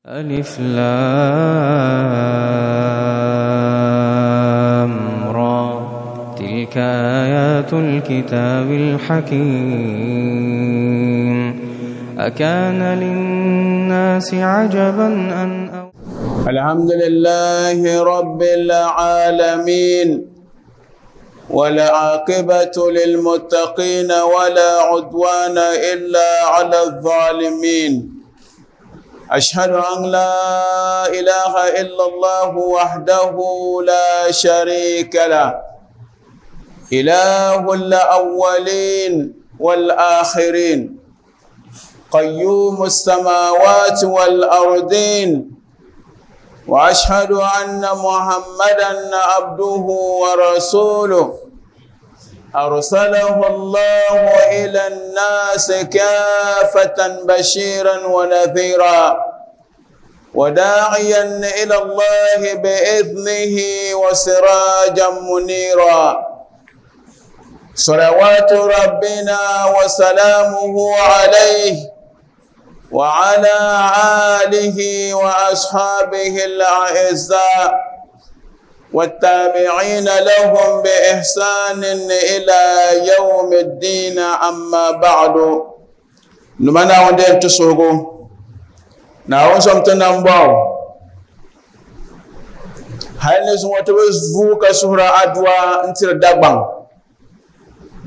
ألف لام را تلك آيات الكتاب الحكيم. أكان للناس عجبا أن الحمد لله رب العالمين، والعاقبة للمتقين ولا عدوان إلا على الظالمين. أشهد أن لا إله إلا الله وحده لا شريك له، إله الأولين والآخرين، قيوم السماوات والأرضين، وأشهد أن محمدا عبده ورسوله، أرسله الله إلى الناس كافة بشيرا ونذيرا وداعيا إلى الله بإذنه وسراجا منيرا. صلوات ربنا وسلامه عليه وعلى آله وأصحابه الأعزاء والتابعين لهم بإحسان إلى يوم الدين. أما بعد، نمنا وندين تسوغو ناون سمتنا مباو هل نزوة تبزوك سورة أدوى انتر دقبان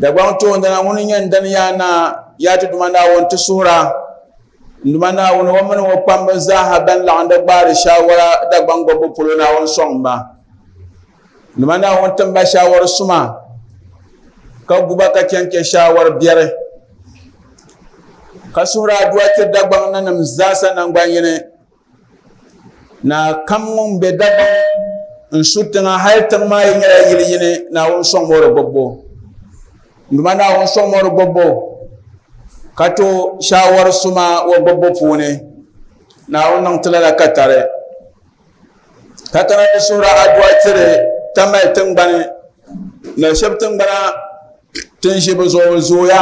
دقبان توندنا ونين دنيانا ياتي دمنا وانتسورة نمنا ونومن وقام زاها بن لعند بار شاورا دقبان قبو پلونا ونصنبا نمنا وانتم بشاور سما كغوبا كانك شاور بيره كسورة أدوى تدقبان نمزاسا نغبان na kam be dagban n sutanga hal tang ma yinga yili yini na won songmoro bobbo nduma na won songmoro bobbo kato shawar suma wa bobbo pune na won nang tilala katare katara sura adwa tire tamal tingbani na shab tingbana tin shibu zo zoya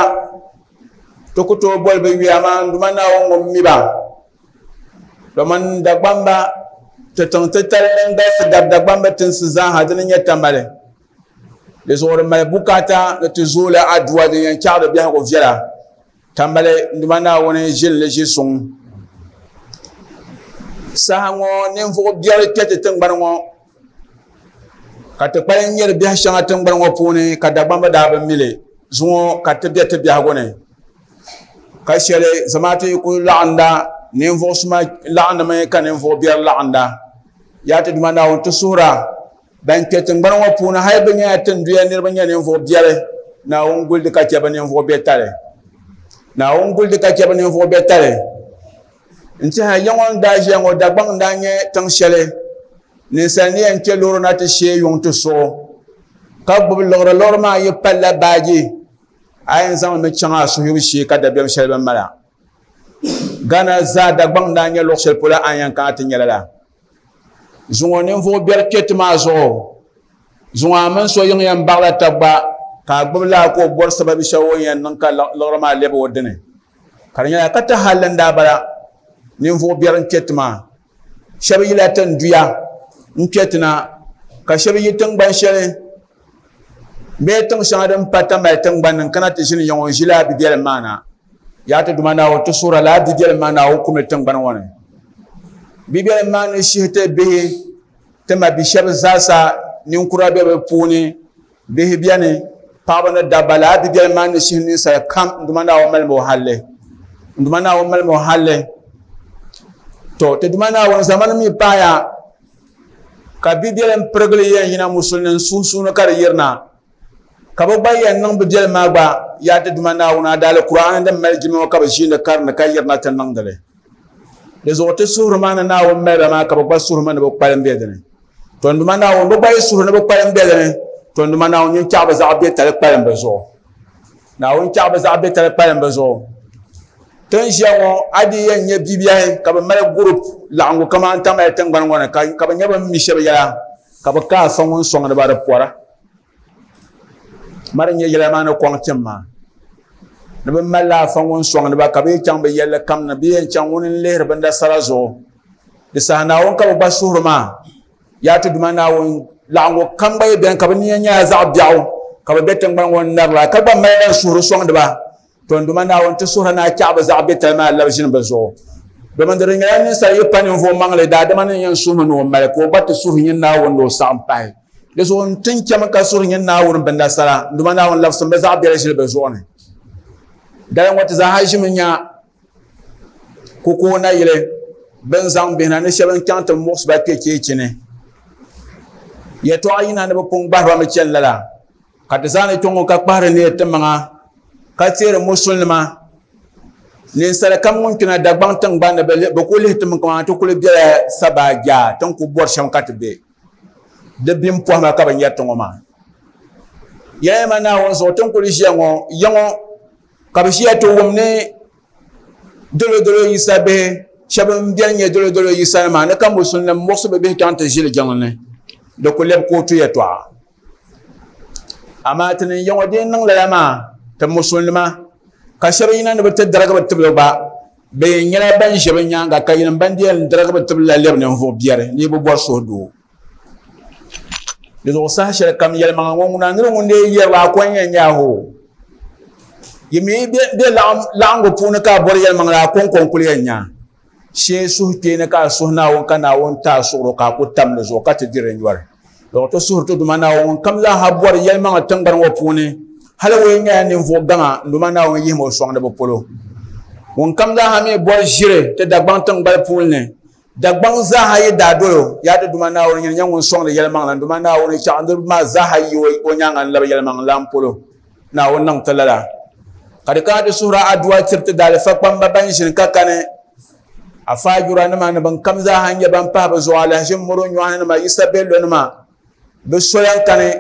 to kuto bol be wiyama nduma na won ngom miba doman dagbamba te tang te talen da dab dagbamba tin sizan hadin nya tamale les zor mal bukata te zola adwa de yan chaado bi ha ko viela tambale nduma na won jil le jisung sahango ninvuɣu biɛri kpɛ ti tingbani ŋɔ ka ti kpali nyɛri biɛhi shɛŋa tingbani ŋɔ puuni ka Dagbamba daa bi mili zuŋɔ ka ti bɛ ti biɛhigu ni ka shɛli zamaatu yi ku laɣinda ninvuɣu suma laɣindimi ka ninvuɣu biɛri laɣinda yaa ti Duuma Naawuni ti suhura ban kpɛ tingbani ŋɔ puuni hali bi nyɛla tinduya niriba nyɛ ninvuɣu biɛri Naawuni guldi ka chɛ bi ninvuɣu biɛtali Naawuni guldi ka chɛ bi ninvuɣu biɛtali ntiha yaŋɔ daa ʒiya ŋɔ Dagbaŋ daa nyɛ tiŋ shɛli ninsal ni yɛn kpɛ loori na ti shee yuŋ ti suɣu ka gbubi liɣiri liɣiri maa yi palla baaji a yɛn zaŋmi chaŋ a suhuyibu shee ka dabiɛm shɛli bin mala Ghana zaa Dagbaŋ daa nyɛ luɣu shɛli polo a yɛn kana ti nyɛla la zuŋɔ ninvuɣu biɛri kpɛ ti maa zuɣu zuŋɔ a mini so yiŋ yɛn baɣala taba gba ka a gbubi laa ka o bɔri sababi shɛli o yɛn niŋ ka liɣiri maa lɛbi o dini ka di nyɛla ka ti halli n daa bala ninvuɣu biɛri n kpɛ ti maa shɛba yila tinduya n kpɛ ti na ka shɛba yi tingbani shɛli bee tiŋ shɛŋa din pa tamali tingbani n kana ti ʒini yaŋɔ n ʒi laa bibiɛlim maa na yaa ti Duuma Naawuni ti suhura laa bibiɛlim maa Naawuni kumli tingbani ŋɔ ni bibiɛlim maa ni shihi ti bihi ti ma bi shɛba zaasa ninkura bɛ bi puuni bihi biɛni paɣaba ni dabba laa bibiɛlim maa ni shihi ninsal kam n Duuma Naawuni malimi o halli n Duuma Naawuni malimi o halli to ti Duuma Naawuni zamani mi paaya ka bibiɛlim pirigili yɛn yina musulinin sunsuuni ka di yirina ka bi gba yɛn niŋ bibiɛlim maa gba yaa ti Duuma Naawuni adaali Kur'ani din mali jilima ka bi ʒiindi karini ka yirina ti niŋdili di zuɣu ti suhuri maa ni Naawuni maliba maa ka bi gba suhuri ma ni bi kpalim bɛ dini to n Duuma Naawuni bi gba yi suhuri ni bi kpalim bɛ dini to n Duuma Naawuni nyin chaɣ bi zaɣ biɛtali kpalim bi zuɣu Naawuni chaɣ bi zaɣ biɛtali kpalim bi zuɣu tin ʒiya ŋɔ a di yɛn nyɛ bibiɛhi ka bi mali gurup laɣingu kamani tamali tingbani ŋɔ ni ka bi nyɛ bin mi shɛba yɛla ka bi ka afa ŋun sɔŋdi ba di pɔra mari nyɛ yɛla maa ni kɔŋ tim maa ni bi mali afa ŋun sɔŋdi ba ka bi yi chaŋ bi yɛlli kam ni bi yɛn chaŋ ŋuni n lihiri binda sara zuɣu Di saha Naawuni ka bɛ gba suhuri maa. Yaa ti Duuma Naawuni, laɣingu kam gba yi beni ka bɛ nia nyɛla zaɣ biɛɣu, ka bɛ be tiŋgbani ŋɔ ni narila, ka gba mali ban suhuri sɔŋdi ba. Tɔ n Duuma Naawuni, ti suhiri ni a chaɣi bɛ zaɣ biɛtali maa labi ʒini bɛ zuɣu. Domin di di nyɛla ninsal yi pa ninvuɣ maŋli, daadama ni yɛn suhimi ni o mali, ka o gba ti suhi nyin Naawuni ni o saɣim pahi. Di zuɣu n ti chami ka suhiri nyin Naawuni bɛ nasara, n Duuma Naawuni labisim bɛ zaɣ biɛli ʒili bɛ zuɣu ni. Dali ŋɔ ti zaaha ʒimi nya Kukoo nayili bɛn zaŋ bihi na ni shɛba n-chaŋ ti muɣisi ba kpe cheechi ni. Yɛtɔɣa yina ni bɛ pun gbahi ba mi chani lala, ka ti zaani kpe ŋɔ ka kpahiri neei timaŋa ka teeri musulinima. Ninsala kam ŋun kpina Dagbaŋ tiŋgbani ni bɛ ku lihi ti mi kaman ti kuli bela sabaa jaa ti ni ku bɔri shɛm ka ti be. Di bim pɔhima ka bɛ nyari ti ŋɔ maa. Yɛlima Naawuni zuɣu ti ni kuli ʒiya ŋɔ ya ŋɔ ka bɛ ʒiya ti wum ni dolodolo Yisa bihi shɛba m-beni nyɛ dolodolo Yisa nima ni ka musulinim muɣisi bɛ bihi chaŋ ti ʒili jiŋli ni, di ku lɛbi kootu yɛtɔɣa. Amaa ti ni ya ŋɔ di yi niŋ lala maa, ti musulinima ka shɛba yina ni bɛ ti darigi bɛ tibili gba, bɛ yɛn nyɛla ban ʒe bɛ nyaaŋa ka yinim ban di yɛn darigi bɛ tibili la lɛbi ninvuɣ biɛri ni yi bi bɔri suhudoo. Di zuɣu saha shɛli kam yɛlimaŋli ŋɔ ŋuna niri ŋun lee yɛrila a ko n-yɛn nyɛ a hoo. Yi mi be laɣingu puuni ka a bɔri yɛlimaŋli a kɔŋko n-kuli yɛn nya. Shee suhukpeeni ka a suhi Naawuni ka Naawuni ti a suɣuro ka a ku tam di zuɣu ka ti di di nyɔri. Di ti suhiri ti Duuma Naawuni ŋun kam zaaha bɔri yɛlimaŋli tiŋgbani ŋɔ puuni hali o yi nyɛla ninvuɣ gaŋa n Duuma Naawuni yihimi o sɔŋdi bɛ polo. Ŋun kam zaaha mi bɔri ʒiri ti Dagbaŋ tiŋgbali puuni ni Dagbaŋ zaaha yi daa dol o, yaa ti Duuma Naawuni, nyini nyɛ ŋun sɔŋdi yɛlimaŋli. N Duuma Naawuni, chaɣ niriba maa zaaha yi o nyaaŋa n-labi yɛlimaŋlilan polo. Naawuni niŋ ti lala. Ka di kana ti suhir a adua tiri ti daalifa kpamba ban ʒini ka kani, afaajura-nima ni bɛn kam zaaha n-nyɛ ban pahi bɛ zuɣu alahiʒim mɔro nyɔhi-nima, Yisa Bellonima, bɛ soya n-kani.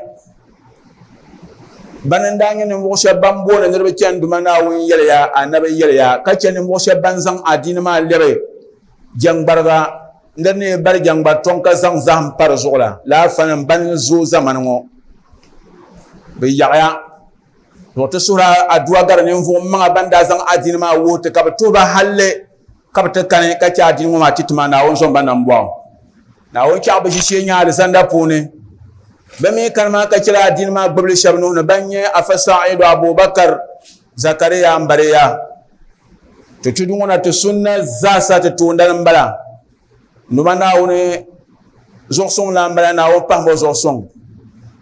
Bani n-daa nyɛ ninvuɣ shɛb ban booni niriba chani Duuma Naawuni yɛliya, Anabi yɛliya, ka chɛ ninvuɣ shɛb ban zaŋ adiini maa lɛbi jɛŋgbariga nir ni bari jɛŋgbari tɔŋ ka zaŋ zahim pa di zuɣu la. Lala fanim bani n-zooi zamani ŋɔ. Bɛ yaɣiya zuɣu ti suhiri adua gari ninvuɣ maŋa ban daa zaŋ adiini maa wuhi ti ka bɛ tuhi ba halli ka bɛ ti kani ka chɛ adiini ŋɔ maa ti ti maa Naawuni zom ba nambɔɣu. Naawuni chaɣ bɛ ʒishee nya alizanda puuni. Bɛ mi kani maa ka chɛla adiini maa gbibili shɛba nuhi ni ban nyɛ Afa Sa'idu Abubakar Zakariya Mbariya. Ti tudu ŋɔ na ti sunna zaasa ti toondani m-bala. Numa Naawuni zuɣusuŋ la m-bala Naawuni pahim o zuɣusuŋ.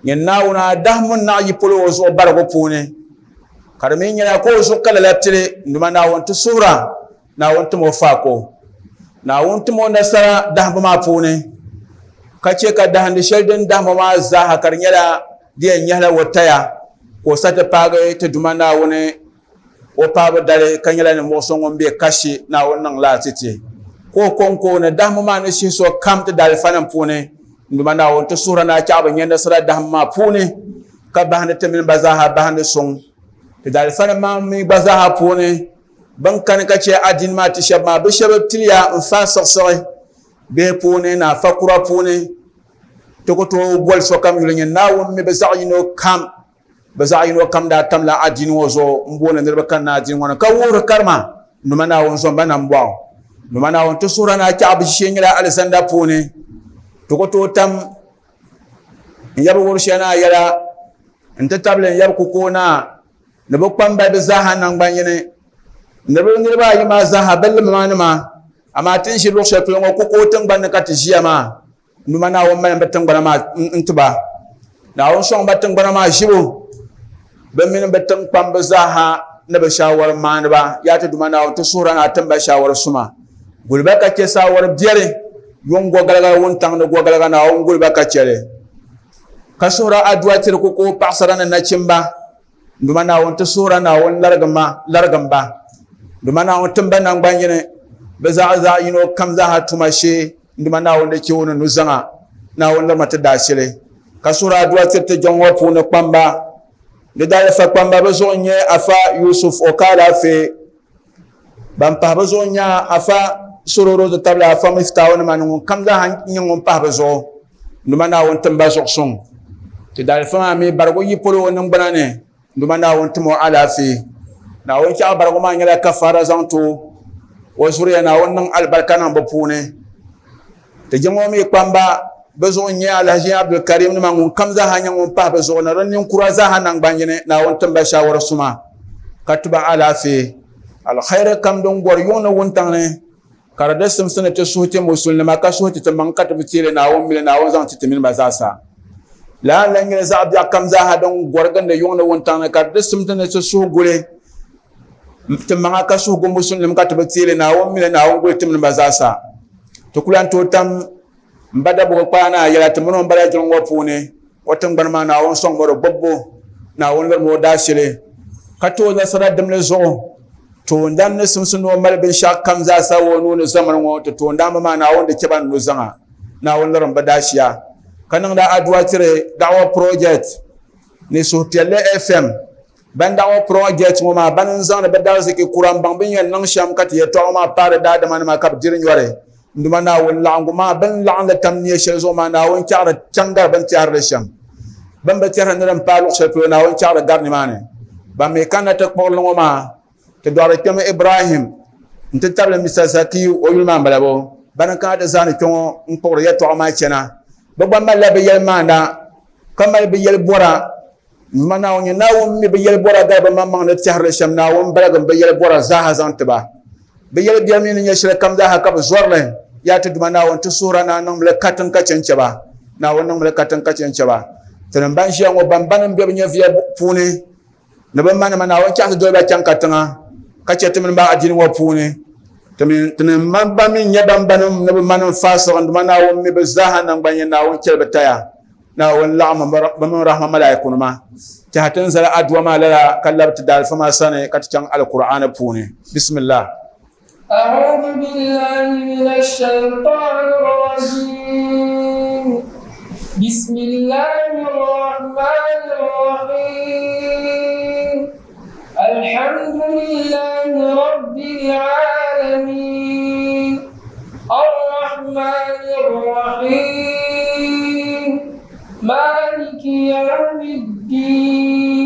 Nyin Naawuni a dahimbu naɣ yi polo o zuɣu barigu puuni. Ka di mi nyɛla ka o zuɣu ka lala pili Numa Naawuni ti suhira Naawuni tim o faako. Naawuni tim o nasara dahimbu maa puuni ka chɛ ka dahindi shɛli din dahim o maa zaaha ka di nyɛla di yɛn nyɛhila o taya ka o sa ti paagi ti Duuma Naawuni o paabu dali ka nyɛla ninvuɣ so ŋun be kashi Naawuni niŋ laa ti ti. Ka o kɔŋko ni dahimbu maa ni shihi so kam ti daalifanim puuni n Duuma Naawuni ti suhira ni a chaɣ bi nya nasara dahimbu maa puuni ka bahindi ti mini ba zaaha bahindi suŋ ti daalifanim maa mi gba zaaha puuni. Bɛn kani ka chɛ adiini maa ti shɛba maa, bɛ shɛba piliya n-fa siɣisiɣi bihi puuni ni afa kura puuni. Ti ku tooi boli sokam yuli nyɛ Naawuni mi bɛ zaɣ yino kam. Bɛ zaɣ yino kam daa tamla adiini ŋɔ zuɣu m-booni niriba kanna adiini ŋɔ ni ka wuhiri karima Numa Naawuni zom ba nambɔɣu. Numa Naawuni ti suhira ni a chaɣ bɛ ʒishee nyɛla alizanda puuni. Ti ku tooi tam n yabi Wurishia Naa yɛla nti tabili n yabi Kukoo Naa ni bɛ kpambaliba zaaha naŋgban yini ni bɛ niriba ayi maa zaaha bɛ limanima, amaa ti ni ʒi luɣ shɛli polo ŋɔ kukoo tiŋgbani ni ka ti ʒiya maa, numa Naawuni mali bɛ tiŋgbana maa n-ti ba. Naawuni sɔŋ ba tiŋgbana maa ʒibu, bɛ mini bɛ tiŋkpamba zaaha ni bɛ shaawari maaniba. Yaa ti Duuma Naawuni, ti suhir a ni a tim ba shaawari suma. Guli ba ka chɛ saawari biɛri, yuŋ gɔgaliga, wuntaŋ ni gɔgaliga, Naawuni guli ba ka chɛ li. Ka suhir a adua tiri kukoo paɣisara ni nachimba. Duuma Naawuni ti suhira Naawuni larigim ba. Duuma Naawuni tim ba naŋgban yini bɛ zaɣa zaɣ yino kam zaaha tuma shee. Duuma Naawuni di chɛ o ni nuzaŋa. Naawuni lirima ti daashili. Ka suhira adua tiri ti jiŋ ŋɔ puuni kpamba. Di daalifa kpamba bɛ zuɣu n-nyɛ Afa Yusuf Okalafe. Ban pahi bɛ zuɣu n-nyɛ Afa Sororo ti tabili Afa Miftahu nima ni ŋun kam zaaha nyɛ ŋun pahi bɛ zuɣu. Duuma Naawuni tim ba zuɣusuŋ. Ti daalifa maa mi barigu yi polo o niŋgbuna ni, Duuma Naawuni tim o alaafee. Naawuni chaɣ barigu maa nyɛla kafaara zaŋ ti o. O zuriya Naawuni niŋ alibarika niŋ bɛ puuni. Ti jiŋ ŋɔ mi kpamba bɛ zuɣu n-nyɛ Alhaji Abdulkarim nima ŋun kam zaaha nyɛ ŋun pahi bɛ zuɣu ni di ninkura zaaha naŋgban yini Naawuni tim ba shaawari suma ka ti ba alaafee. Alkhairi kam din gɔri yuŋ ni wuntaŋ ni ka di di simsi ni ti suhi ti musulinima ka suhi ti ti maŋ ka ti bi teeli Naawuni mili Naawuni zaŋ ti ti mini ba zaasa. Lala n-lan nyɛla zaɣ biɛɣu kam zaaha din gɔri gindi yuŋ ni wuntaŋ ni ka di di simdi ni ti suhi guli ti maŋa ka suhi gu musulinima ka ti bi teeli Naawuni mili Naawuni guli ti mini ba zaasa. Ti ku lan tooi tam m ba Dabugu kpaana yɛla ti mini o m-bala jiŋ ŋɔ puuni o tiŋgbani maa Naawuni sɔŋ o di gbubbu Naawuni lirimi o daashili ka ti o nasara dimli zuɣu. Toondan ni simsi ni o mali binshɛɣu kam zaasa o nuu ni zamani ŋɔ ti toondaanba maa Naawuni di chɛ ba ni nuzaŋa Naawuni lirim bɛ daashiya ka niŋda aduwa tiri Da'wa Project ni Suhupiɛlli FM. Ban Da'wa Project ŋɔ maa bani n-zaŋdi bɛ dariziki kura m-baŋ bɛ ni yɛn niŋ shɛm ka ti yɛtɔɣa ŋɔ maa paari daadamanima ka bɛ diri nyɔri. N Duuma Naawuni, laɣingu maa bɛ ni laɣim li tam nia shɛli zuɣu maa, Naawuni chaɣiri chaŋ gari bɛ ni tɛhiri li shɛm. Bɛ ni bi tɛhiri ni din paai luɣ shɛli polo, Naawuni chaɣiri gari nimaani. Ban mi kanna ti kpuɣiri li ŋɔ maa, ti dɔɣiri kpɛma Ibrahim nti tabili Mista Zakiyu, o yuli maa m-bala bo? Bani n-kana ti zaani kpe ŋɔ n-kpuɣiri yɛtɔɣa maa chana. Bɛ gba malila bɛ yɛlimaanda, ka mali bɛ yɛlibɔra. N Duuma Naawuni nyɛ Naawuni mi bɛ yɛlibɔra gari bɛ maŋmaŋ ni tɛhiri li shɛm. Naawuni baligim bɛ yɛlibɔra zaaha zaŋ ti ba. Bɛ yɛlibiɛri mi ni nyɛ shɛli kam zaaha ka bɛ zɔri li. Yaa ti Duuma Naawuni, ti suhir a ni a niŋmi li katiŋ ka chɛ n-chɛ ba. Naawuni niŋmi li katiŋ ka chɛ n-chɛ ba. Tinim ban ʒiya ŋɔ, ban banim be bɛ nyɛviya puuni ni bɛ manima, Naawuni chaɣisi doli ba chaŋ katiŋa ka chɛ ti mini ba adiini ŋɔ puuni. Tinim ban mi nyɛ ban banim ni bɛ manim faasiɣ n Duuma Naawuni mi bɛ zaaha naŋgban yini Naawuni chɛli bɛ taya. Naawuni laɣimmi bɛ mini rahma malaikunima tɛha ti ni zali aduwa maa lala ka labi ti daalifa maa sani ka ti chaŋ Alkur'aani puuni. Bismillah. أعوذ بالله من الشيطان الرجيم بسم الله الرحمن الرحيم الحمد لله رب العالمين الرحمن الرحيم مالك يوم الدين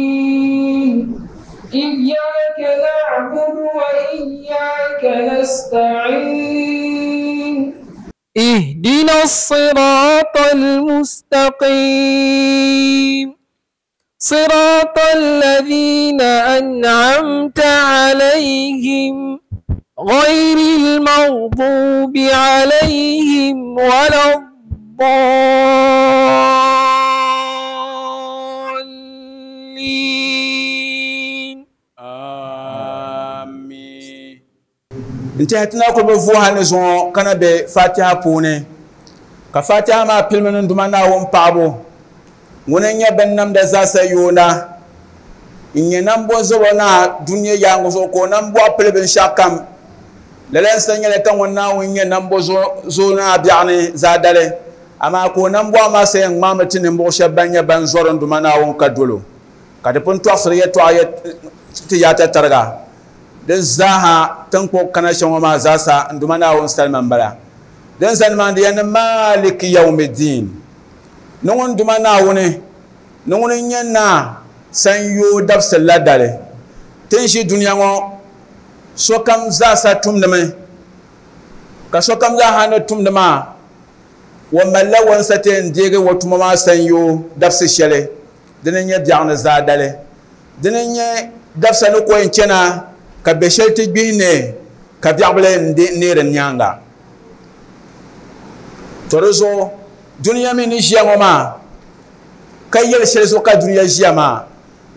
إياك نعبد وإياك نستعين اهدنا الصراط المستقيم صراط الذين أنعمت عليهم غير المغضوب عليهم ولا الضالين. آمين. N-tɛhi ti na kuli bi vuhi ni zuŋɔ ka na be Fatiha puuni ka Fatiha maa pilimi ni Duuma Naawuni paɣibu ŋuni n-nyɛ binnamda zaasa yoona n-nyɛ nambɔzɔbo naa dunia yaaŋa zuɣu ka o nambɔɣu pili binshɛɣukam. Lala n-sa nyɛla ka ŋun Naawuni nyɛ nambɔzɔbo naa biɛɣuni zaadali, amaa ka o nambɔɣu maa sa yɛn ŋmaami ti ninvuɣ shɛba ban nyɛ ban zɔri n Duuma Naawuni ka dol o, ka di pun tɔɣisiri yɛtɔɣa ti yaata tariga. Di zaaha ti ni kpuɣi kana shɛm ŋɔ maa zaasa n Duuma Naawuni salima m-bala. Din zani maa di yɛn ni Maaliki Yawmiddin, ni ŋun Duuma Naawuni, ni ŋuni n-nyɛ naa sanyoo dabisili la dali. Ti ni ʒi dunia ŋɔ sokam zaasa tumdimi, ka sokam zaaha ni tumdi maa, o malila wansa ti yɛn deegi o tuma maa sanyoo dabisi shɛli. Dini n-nyɛ biɛɣu ni zaadali. Dini n-nyɛ dabisa ni ko yɛn chana ka bɛ shɛli ti gbihi ne ka biɛɣu bila n-neeri nyaaŋa. To di zuɣu dunia mi ni ʒiya ŋɔ maa ka yɛli shɛli zuɣu ka dunia ʒiya maa,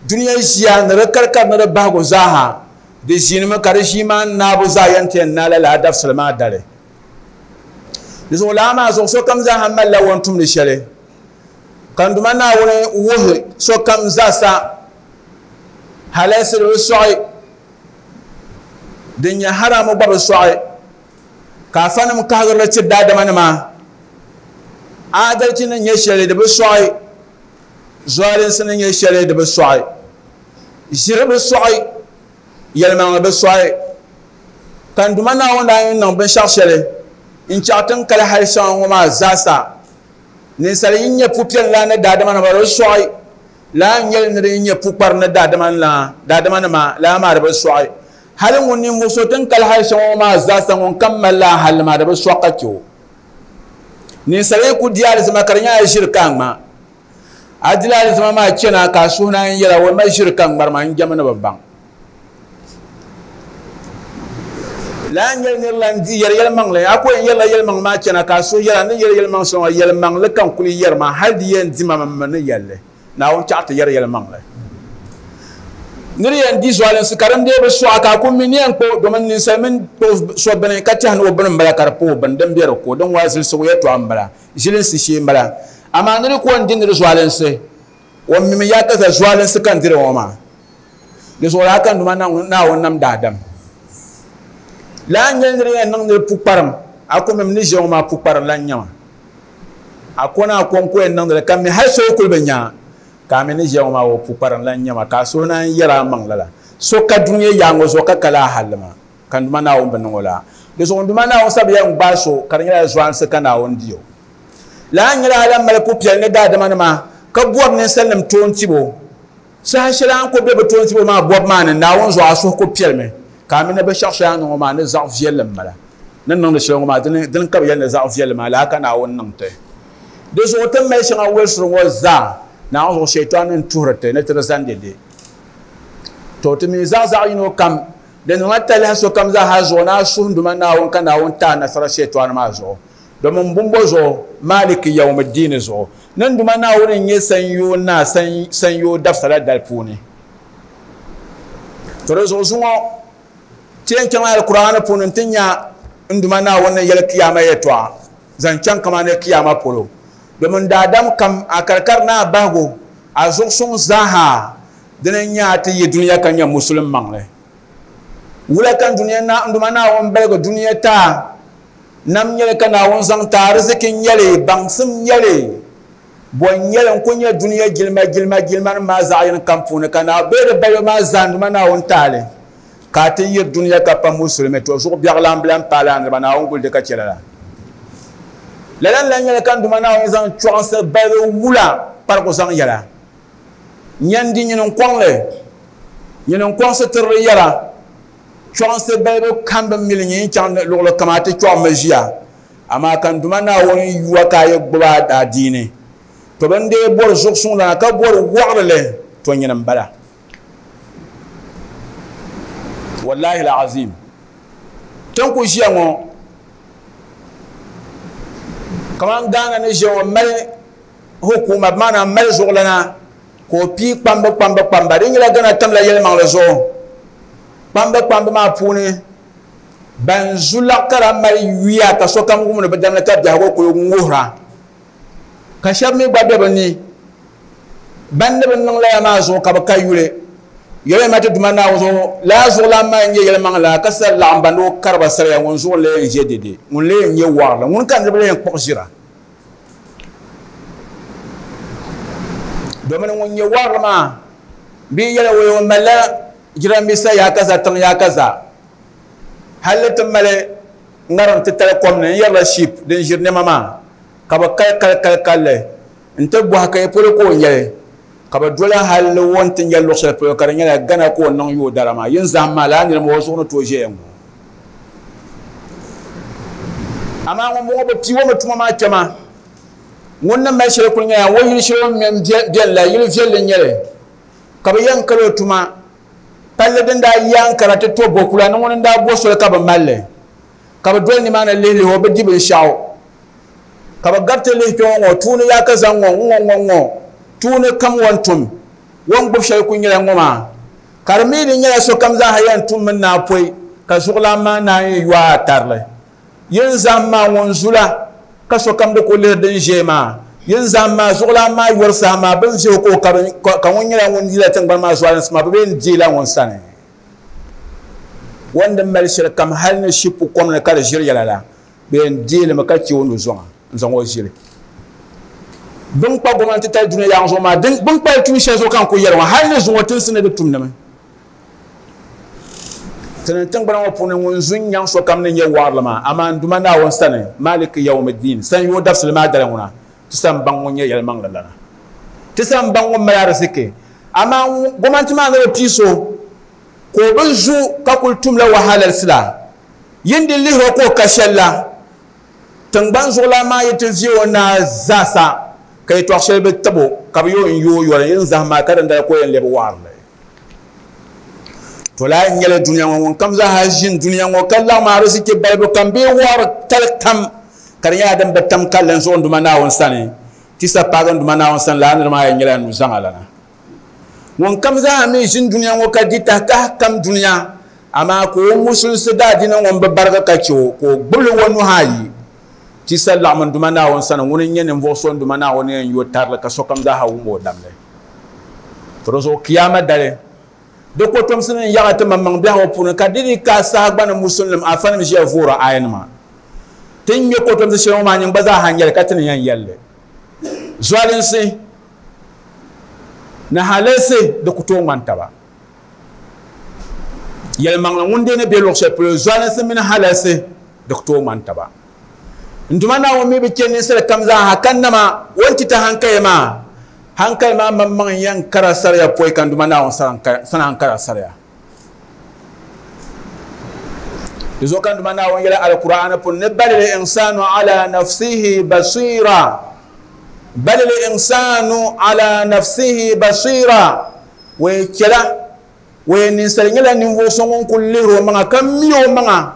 dunia ʒiya ni di karikari ni di bahigu zaaha di ʒiinimi ka di ʒii maa naabu zaa yɛn ti yɛn naai lala dabisili maa dali. Di zuɣu laa maa zuɣu sokam zaaha malila o ni tumdi shɛli ka n Duuma Naawuni wuhi sokam zaasa halalisi di bi sɔɣi, din nyɛ haramu gba bi sɔɣi, ka afanim kahigirili tiri daadamanima adalchi ni nyɛ shɛli di bi sɔɣi, zualinsi ni nyɛ shɛli di bi sɔɣi, ʒiri bi sɔɣi, yɛlimaŋli bi sɔɣi. Ka n Duuma Naawuni daa yɛn niŋ binshɛɣu shɛli n-chaɣ ti ni kali hali shɛŋa ŋɔ maa zaasa. Ninsal yi nyɛ pupiɛlli ni daadamanima di bi sɔɣi, laa n-nyɛli ni di yi nyɛ pukpari ni daadamanima laa maa di bi sɔɣi. Hali ŋun ninvuɣ so ti ni kali hali shɛŋa ŋɔ maa zaasa ŋun kam mali laa halli maa di bi sɔɣi ka chɛ o. Ninsal yi ku di alizama ka di nyɛla ʒiri ka a ŋma, a dila alizama maa chana ka a suhu naan yɛla, o ma ʒiri ka n ŋmari maa, n jɛmi ni bi baŋ. Lala n-nyɛli nir lan di yɛri yɛlimaŋli, a ku yɛn yɛrila yɛlimaŋli maa chana ka a suhu yɛla, n ni yɛri yɛlimaŋ shɛli ŋɔ, yɛlimaŋli ka n kuli yɛri maa, hal di yɛn di ma m mi ni yɛli li. Naawuni chaɣ ti yɛri yɛlimaŋli. Nir yɛn di zualinsi ka din dee bi sɔɣi ka a ku mi ni yɛn kpuɣi, domin ninsal mini kpuɣi so bini ka tɛhi ni o bini m-bala ka di pa o bini, din be di ko, din waa zilisigu yɛtɔɣa m-bala, ʒilinsi shee m-bala. Amaa nir ku o ni di nir zualinsi, o mimi yaakaza zualinsi ka n diri ŋɔ maa. Di zuɣu daa ka n Duuma Naawuni nam daadam. Lala n-nyɛ nir yɛn niŋ nir pukparim, a ku mimi ni ʒiya ŋɔ maa pukparim lan nyɛ ma. A ko ni a kɔŋko yɛn niŋdi li, ka mi hal so yi kuli bi nya ka a mi ni ʒiya ŋɔ maa o pukparim lan nyɛ ma, ka a suhu naan yɛr a maŋ lala. So ka dunia yaaŋa zuɣu ka ka lala halli maa, ka n Duuma Naawuni bi niŋ o lala. Di zuɣu n Duuma Naawuni sa bi yɛn gbaai so ka di nyɛla zualinsi ka Naawuni di o. Lala n-nyɛla a lan mali pupiɛlli ni daadamanima ka bɔri ninsalinim toon tibo. Saha shɛli a ni kul be bɛ toon tibo maa bɔbu maa ni, Naawuni zuɣu a suhu kul piɛlimi, ka a mi ni binshɛɣu shɛli a ni niŋ ŋɔ maa ni zaɣ viɛlli m-bala. Ni niŋdi shɛli ŋɔ maa, dini ka bɛ yɛli ni zaɣ viɛlli maa, lala ka Naawuni niŋ ti. Di zuɣu ti ni mali shɛŋa wolisiri ŋɔ zaa, Naawuni zuɣu Shɛitan ni tuhiri ti ni ti di zani dɛde. To ti mi zaɣ zaɣ yino kam, di niŋla talahi sokam zaa ha zuɣu ni a suhi Duuma Naawuni ka Naawuni ti a nasara Shɛitan maa zuɣu. Domin bumbo zuɣu, Maaliki Yawmiddiini zuɣu, ni n Duuma Naawuni n-nyɛ sanyoo naa sanyoo dabisa la dali puuni. To di zuɣu zuŋɔ, ti yɛn chaŋla Alkur'aani puuni nti nya n Duuma Naawuni ni yɛli Kiyama yɛtɔɣa zaŋ chaŋ kamani Kiyama polo. Domin daadam kam, a karikari ni a bahigu, a zuɣusuŋ zaaha, dini n-nyɛ a ti yi dunia ka nyɛ Musulim maŋli. Wula ka n Duuma Naawuni baligi dunia ti a? Nam nyɛli ka Naawuni zaŋ ti ariziki n-nyɛli, baŋsim n-nyɛli, bɔ n-nyɛli n-ku nyɛ dunia jilima jilima jilimanim maa zaɣ yini kam puuni ka Naawuni bee di balibu maa zaa n-Duuma Naawuni taali ka a ti yiri dunia ka pa musulimi, to zuɣu biɛɣulan bi lan paali a niriba, Naawuni guli di ka chɛ lala. Lala n-lan nyɛli ka n Duuma Naawuni zaŋ chɔɣinsi balibu wula kparigu zaŋ yɛla. Nyandi nyini n-kɔŋ li, nyini n-kɔŋ sitirili yɛla. Chɔɣinsi balibu kam bi mili nyin chaŋ luɣili kam a ti chɔɣimmi ʒiya, amaa ka n Duuma Naawuni yu a ka a yi gbubi a adiini, to bɛ ni dee bɔri zuɣusuŋlana ka bɔri wɔɣirili, to nyini m-bala. Wallahi al-azim. Ti ni kuli ʒiya ŋɔ, kaman Ghana ni ʒiya ŋɔ mali hukuuma, bi maana mali zuɣulana ka o pii kpamba kpamba kpamba. Di nyɛla Ghana tamla yɛlimaŋli zuɣu. Kpamba kpamba maa puuni ban zu laɣ ka daa mali yuya ka sokam wumdi bi damli ka biɛhigu kuli ŋuhira, ka shɛba mi gba be bɛ ni ban ni bi niŋ lala maa zuɣu ka bɛ ka yuli. Yɛliya ma ti Duuma Naawuni zuɣu, lala zuɣulan maa n-nyɛ yɛlimaŋli la, ka sa laɣim ba ni o kari ba saria, ŋun zuɣu n-lee yɛn ʒe dɛde, ŋun lee yɛn nyɛ wɔɣirili, ŋuni ka niriba lee yɛn kpuɣi ʒira? Domin ŋun nyɛ wɔɣirili maa bɛ yi yɛli o o malila jiranbiisa yaakaza tiŋ yaakaza hali ti mali ŋariŋ titali kom ni n-yɛrila ship din ʒiri nɛma maa ka bɛ kali kali kali kalli nti bɔhi ka ya polo ka o nyɛli ka bɛ doli hali o ni ti nyɛ luɣ shɛli polo ka di nyɛla Ghana ka o niŋ yooi dara maa yin zahim maa lala niriba o zuɣu ni tooi ʒɛya ŋɔ amaa ŋun bɔŋɔ bɛ pii o mi tuma maa kpɛma ŋun ni mali shɛli kuli nyɛla o yili shɛli o ni mɛ beni la yili viɛlli n-nyɛli ka bɛ yɛn kali o tuma palli din daa yi Ankara ti to Bokula ni ŋuni n-daa bo soli ka bɛ mali li ka bɛ doli nimaani lihi lihi o bɛ di binshɛɣu ka bɛ gariti lihi kpe ŋɔ ŋɔ tuuni yaa ka zaŋ ŋɔ ŋ-ŋɔ ŋɔ ŋɔ tuuni kam o ni tum o ni gbubi shɛli kuli nyɛla ŋɔ maa ka di mi di nyɛla sokam zaaha yɛn tummi naai pɔi ka zuɣulan maa naan yi yo a tarili yin zahim maa ŋun zula ka sokam di kuli lihiri din ʒiɛ maa yin zahim maa zuɣulan maa yori saha maa bɛ ni vihi o ka o ka ŋun nyɛla ŋun yila tiŋgbani maa zualinsi maa bɛ bee n-deela ŋun sani o ni di mali shɛli kam hali ni shipu kom ni ka di ʒiri yɛla la bɛ yɛn deei li mi ka chɛ o nuzɔŋa n-zaŋ o ʒili. Bɛ ni kpa gomnanti tali dunia yaŋ zuɣu maa, bɛ ni kpali tuun shɛli zuɣu ka n kuli yɛli ŋɔ, hali ni zuŋɔ tinsi ni di tumdimi. Ti ni tiŋgbana ŋɔ puuni ŋun zu n-nyaŋ sokam ni nyɛ wɔɣirili maa, amaa n Duuma Naawuni sani, Maaliki Yawmiddin, sanyoo dabisili maa dali ŋuna, ti sa m-baŋ ŋun nyɛ yɛlimaŋli lana. Ti sa m-baŋ ŋun mali ariziki, amaa gomnanti maa ni bi pii so ka o bi zu ka kuli tumla wahalalisi la, yin di lihir o ka o ka shɛli la. Tiŋgbani zuɣulan maa yi ti viɛ o naa zaasa ka yɛtɔɣ shɛli bi tib o, ka bɛ yo n-yo o yɔri n zahim maa ka dindali ka o yɛn lɛbi wɔɣirili. To lahi nyɛla dunia ŋɔ ŋunkam zaaha ʒini dunia ŋɔ ka laɣim ariziki balibu kam bee wɔɣiri tali kam ka di nyɛla din bi tam kalinli n-zuɣu n Duuma Naawuni sani, ti sa paagi n Duuma Naawuni sani lala niriba maa yɛn nyɛla nuzaŋa lana. Ŋunkam zaaha mi ʒini dunia ŋɔ ka di tahikahi kam dunia, amaa ka o musulinsi daadiini ŋɔ m-bi barigi ka chɛ o, ka o gbibi li o nuhi ayi, ti sa laɣim n Duuma Naawuni sani, ŋuni n-nyɛ ninvuɣ so n Duuma Naawuni yɛn yo tarili ka sokam zaaha wum o damli. To di zuɣu Kiyama dali, di kotomsi ni n-yaɣi ti maŋmaŋ biɛhigu puuni ka di di ka saha gba ni musulinnim afanim ʒiya voori ayanima. Ti ni nya kotomsi shɛli ŋɔ maa nyin gba zaaha n-nyɛli ka ti ni yɛn yɛli li. Zualinsi ni halalsi di ku tooi ŋmani taba. Yɛlimaŋli ŋun dee ni be luɣ shɛli polo, zualinsi mini halalsi di ku tooi ŋmani taba. N Duuma Naawuni mi bi chɛ ninsal kam zaaha ka nama o ni ti ti hankali maa. Hankali maa maŋmaŋ n-yɛn kara sariya pɔi ka n Duuma Naawuni sani ankara sariya. Di zuɣu ka n Duuma Naawuni yɛli Alkur'aani puuni ni balil insaanu ala nafsihi basira. Balil insaanu ala nafsihi basira. Wee chɛla, wee ninsal nyɛla ninvuɣ so ŋun kul lihir o maŋa ka mi o maŋa.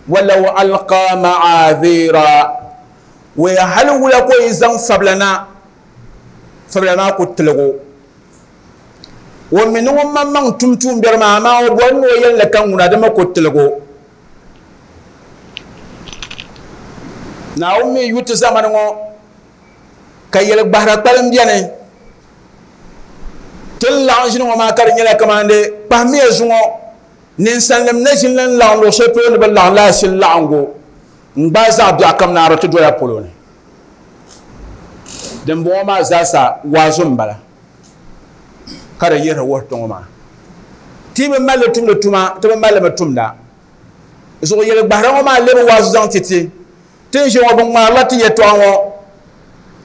Walaw alqa ma'aadhira. Wee hali wula ka o yi zaŋ fabila na, fabila maa ku tilig o. O mi ni ŋun maŋmaŋ tum tuumbiɛri maa, amaa o bɔri ni o yɛli li ka ŋuna di mi ku tilig o. Naawuni mi yu ti zamani ŋɔ ka yɛligbahira kpalim beni. Ti ni laɣim ʒini ŋɔ maa ka di nyɛla kamani kpahimiya zuŋɔ ninsalinim ni ʒini n laɣim luɣ shɛli polo ni bɛ laɣim la ashili laɣiŋgu n-gbaai zaɣ biɛɣu kam naari ti dola polo ni. Dimbɔŋɔ maa zaasa waazu m-bala ka di yihiri wuhi ti ŋɔ maa. Ti bi mali li tumdi tuma, ti bi mali li mi tumda. Zuɣu yɛligbahira ŋɔ maa lebi waazu zaŋ ti ti. Ti ni ʒiya ŋɔ, bɛ ŋmaarila ti yɛtɔɣa ŋɔ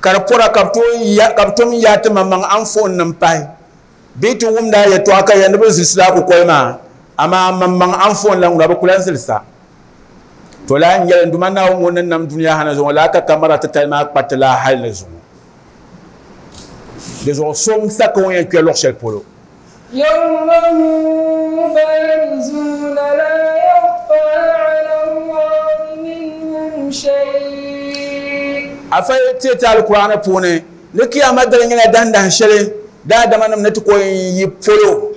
ka di pɔra ka bɛ tom n-yaai ti maŋmaŋ anfoonnim pahi. Bɛ yi ti wumdi a yɛtɔɣa ka yɛli ni bɛ zilisi a kukoli maa, amaa a maŋmaŋ anfoon la ŋuna bɛ ku lan zilisa. To lahi n-yɛli, N Duuma Naawuni ŋun ni nam dunia ha ni zuŋɔ laa ka kamara titali maa kpa ti la hali ni zuŋɔ. Di zuɣu so n-sa ka o yɛn kpe luɣ shɛli polo. يوم هم بارزون لا يخفى على الله منهم شيء. Afa yi ti ti Alkur'aani puuni ni Kiyama dali nyɛla dahindahin shɛli daadamanim ni ti ko n-yi polo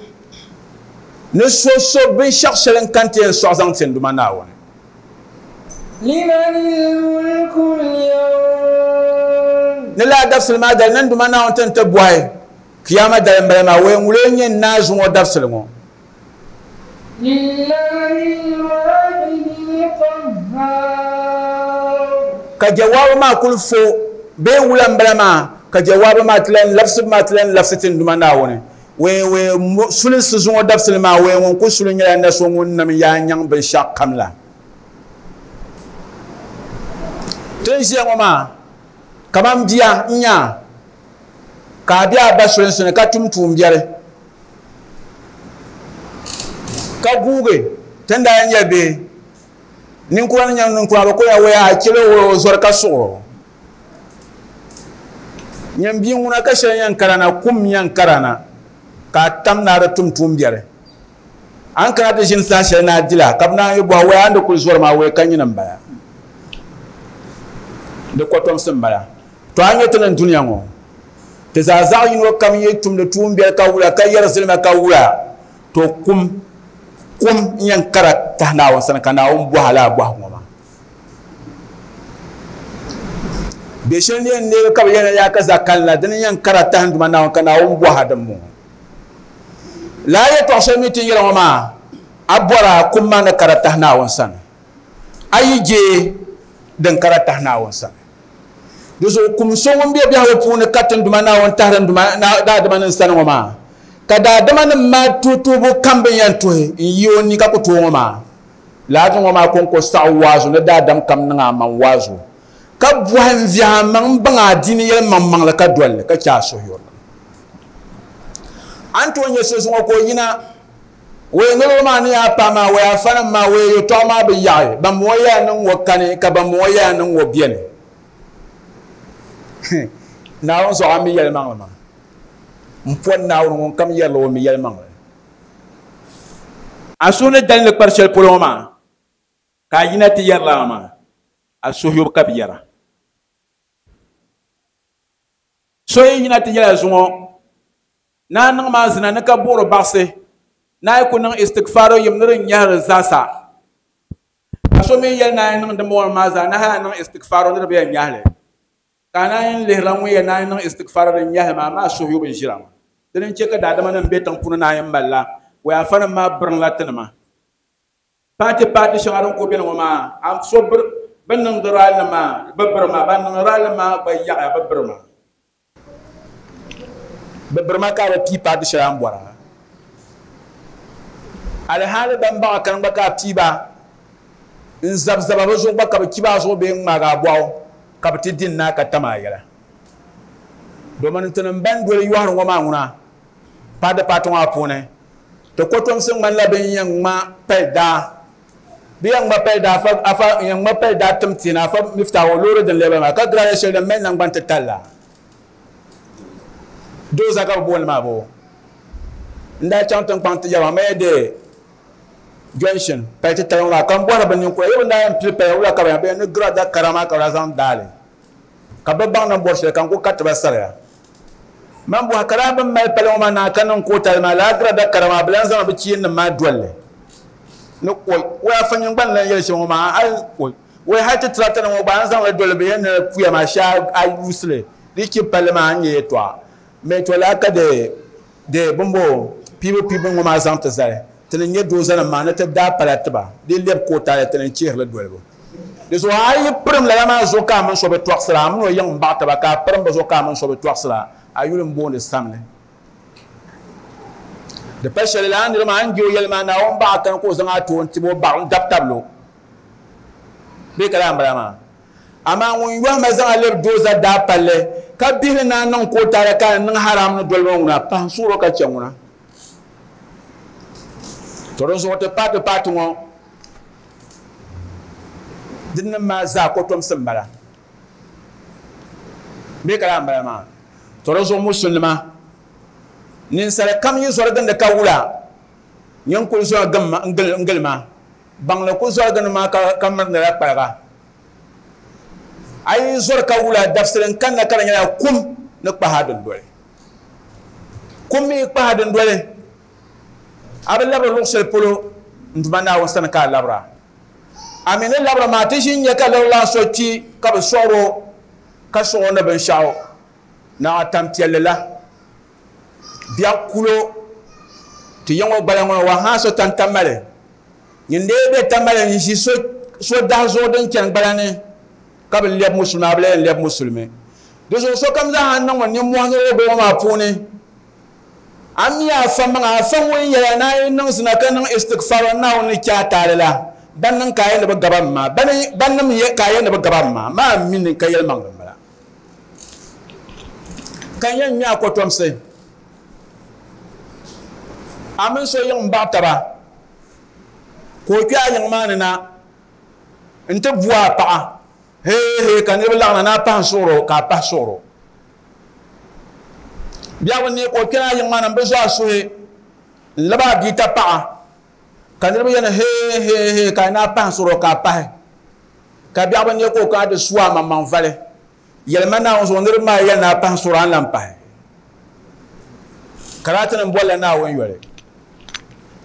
ni so so binshɛɣu shɛli n-kani ti yɛn sɔɣi zaŋ ti n Duuma Naawuni. Liman al-mulku al-yawm. Ni lala dabisili maa dali ni n Duuma Naawuni ti ni ti bɔhi Kiyama dali m-bala maa, wee ŋuli n-nyɛ Naa zuŋɔ dabisili ŋɔ? Lillahi al-wahidi al-qahhar. Ka jawaabu maa kuli fo bee wula m-bala maa, ka jawaabu maa ti lan labisibu maa ti lan labisi ti Duuma Naawuni. Wee wee sulinsi zuŋɔ dabisili maa, wee ŋun ku suli nyɛla na so ŋun nam yaa nyaŋ binshɛɣu kam la. Ti ni ʒiya ŋɔ maa, kaman bia n-nyɛ a. Ka a be a ba sulinsi ni ka tum tuumbiɛri, ka guugi ti ni daa yɛn nyɛ bihi. Ninkura ni nyɛ ninkura, bɛ ku yɛn waya a chɛli o o zɔri ka suɣir o. Nyin bia ŋuna ka shɛli yɛn kara na, kum yɛn kara na, ka a tam ni a di tum tuumbiɛri. A ni kana ti ʒini saha shɛli ni a dila, ka bɛ naan yi bɔhi waya a ni di kuli zɔri maa, waya ka nyini m-bala. Di kɔtomsi m-bala. To a nya ti ni dunia ŋɔ, ti zaa zaɣ yino kam yi tumdi tuumbiɛli ka wula, ka yɛri zilima ka wula, to kum, kum n-yɛn kara tahi Naawuni sani ka Naawuni bɔhi a lala bɔhigu ŋɔ maa. Bɛ shɛli ni yɛn neegi ka bɛ yɛn yaa ka za kanila, dini n-yɛn kara tahi n Duuma Naawuni ka Naawuni bɔhi a din bɔŋɔ. Lala yɛtɔɣ shɛli mi ti ni yɛli ŋɔ maa, a bɔra kum maa ni kara tahi Naawuni sani, a yi je din kara tahi Naawuni sani. Di zuɣu kum so ŋun be biɛhigu puuni ka ti Duuma Naawuni tahiri n Duuma daadamanim sani ŋɔ maa, ka daadamanim maa tuhi tuhibu kam bɛ ni yɛn tuhi n-yi o ni ka ku tooi ŋɔ maa, lala ŋɔ maa kɔŋko saɣi waazu ni daadam kam niŋ a maŋ waazu, ka bɔhi n-viɛhi a maŋ m-baŋ a diini yɛlimaŋmaŋli ka doli li ka chɛ a suhuyurilim. A ni tooi nya so zuŋɔ ka o yina Wei niriba maa ni yaa paɣa maa, wei afanim maa, wei yɛltɔɣa maa bi yaɣi. Ban bɔŋɔ yaa niŋ ŋɔ kani, ka ban bɔŋɔ yaa niŋ ŋɔ beni. Naawuni zuɣu a mi yɛlimaŋli maa. M pɔri Naawuni ŋun kam yɛrili o mi yɛlimaŋli. A suhu ni dalindi kpari shɛli polo ŋɔ maa, ka a yina ti yɛri lala maa, a suhuyubu ka bɛ yɛra. So yi yina ti yɛla zuŋɔ, ni a niŋ maa zina ni ka buɣiri baɣisi, ni a yi ku niŋ istigfaaro yim ni di nyɛhiri zaasa. Ka so mi yɛli ni a yi niŋ dimbɔŋɔ maa zaa, ni hali a niŋ istigfaaro ni di bi yɛn nyɛhili. Ka a naan yi lihirila ŋun yɛli ni a yi niŋ istigfaaro din nyɛhili maa, amaa suhuyubu n-ʒira ŋɔ. Dini n-chɛ ka daadamanim be tiŋ puuni naan yi malila wayafanim maa biriŋla tinima. Paati paati shɛŋa din kuli beni ŋɔ maa, a so biri bɛ niŋdi rali maa, bɛ biri ma, ban niŋdi rali maa gba yaɣiya bɛ biri ma. Bɛ biri ma ka a bi pii paati shɛli a ni bɔra. Alihali ban baɣa kani gba ka a pii ba n-zabi zaba bɛ zuɣu gba ka bɛ chibi a zuɣu bee n-ŋmaagi a bɔɣu ka bɛ ti di n-naai ka tam a yɛla. Domin tinim ban doli yɔhiri ŋɔ maa ŋuna paati paati ŋɔ maa puuni Ti kɔtomsi ŋmanila bɛ ni yɛn ŋma pali daa. Bɛ yɛn ŋma pali daa afa, afa yɛn ŋma pali daa tim ti na afa Miftah o loori din lɛbila maa ka girada shɛli din mali naŋgban titali la. Dooza ka bɛ booni maa boo. N daa chaŋ tiŋkpaŋ ti yaba maya de junction pali titali ŋɔ maa ka n bɔhiri bɛ ninkura yɛ bɛ ni daa yɛn pili pali wula ka bɛ yɛn bɛ yɛn ni girada kara maa ka bɛ daa zaŋ daali ka bɛ baŋ ni bɔri shɛli ka n ku kariti ba sariya. Man bɔhi ka daa bɛ ni mali pali ŋɔ maa naai ka niŋ kootali maa, lala girada kara maa, bɛ lan zaŋla bɛ chiinnim maa doli li ni oi, oi afa nyin gba ni lan yɛli shɛm ŋɔ maa, hal oi, oi hal ti tirata ŋɔ gba a ni zaŋ li doli bɛ yɛn ni puya maa shee a yuusi li di chi palli maa a ni nya yɛtɔɣa. Mɛ to lala ka di di bimbo piibu piibu ŋɔ maa zaŋ ti zali ti ni nya doozanim maa ni ti daa pala tiba di lɛbi kootali ti ni chihiri li dolibu. Di zuɣu a yi pirim lala maa zuɣu ka a mini so bi tɔɣisira, a min o yiŋ m-baɣi taba ka a pirim bɛ zuɣu ka a mini so bi tɔɣisira, a yuli m-booni samli. Di pa shɛli lala nira maa a ni je o yɛli maa Naawuni baɣa kani ka o zaŋ a ti o n-tib o baɣa n-dab tabili o bee ka lala m-bala maa. Amaa ŋun yɔhi ma zaŋ a lebi dooza daa palli ka bihili ni a niŋ ka o taali ka a niŋ haram ni doli ma ŋuna, pahi n-suhir o ka chɛ ŋuna. To dinzuɣu ti paati paati ŋɔ Dinnim maa zaa kotomsi m-bala. Bee ka laa m-bala maa? To di zuɣu musulinima, ninsali kam yi zɔri gindi ka wula, nyin kuli zɔri n-gili ma, baŋli ku zɔri gindi ma ka mirindila kpaliga. A yi zɔri ka wula, dabisili n-kanna ka di nyɛla kum ni kpahi a dindoli. Kum mi yi kpahi a dindoli, A bi labiri luɣ shɛli polo n Duuma Naawuni sani ka a labira. A mi ni labiri maa, ti ʒi n-nya ka lirilan so kpi ka bɛ sɔɣir o, ka sɔɣ o ni binshɛɣu naɣ tampiɛlli la. Biɛɣ kulo ti yiŋ o gbala ŋɔ ni wahala so tan Tamale. Nyin lee be Tamale n-ʒi so dahi zuɣu din chani gbala ni ka bi lɛbi musulimi, a bi lahi yɛn lɛbi musulimi. Di zuɣu sokam zaa ha niŋmi nimmɔhi ni o gba ŋɔ maa puuni. A mi afa maŋa, afa ŋun yɛla ni a yi niŋ zina ka niŋ istigfar Naawuni ni chɛ a taali la, ban niŋ ka a yɛn ni bi gaba m ma, ban nim ka a yɛn ni bi gaba m ma, maa mi ni ka yɛlimaŋli m-bala. Ka n yɛn ŋme a kɔtomsi, a mini so yiŋ m-baɣi taba, ka o kpe a yiŋ maa ni na nti bu a paɣa, hee hee, ka niriba laɣimna ni a pahi n-suɣir o, ka a pahi suɣir o. Biɛhigu ni ka o kpɛna a yiŋ maa ni m-bi zo a suhi n-lab a bia tapaɣa, ka niriba yɛli hee hee hee ka a ni a pahi n-suhir o ka a pahi. Ka biɛhigu ni ka o kana ti su a maŋmaŋ vali, yɛli ma Naawuni zuɣu niriba maa yɛli ni a pahi n-suhir o a ni lan pahi. Ka daa ti ni bolila Naawuni yoli.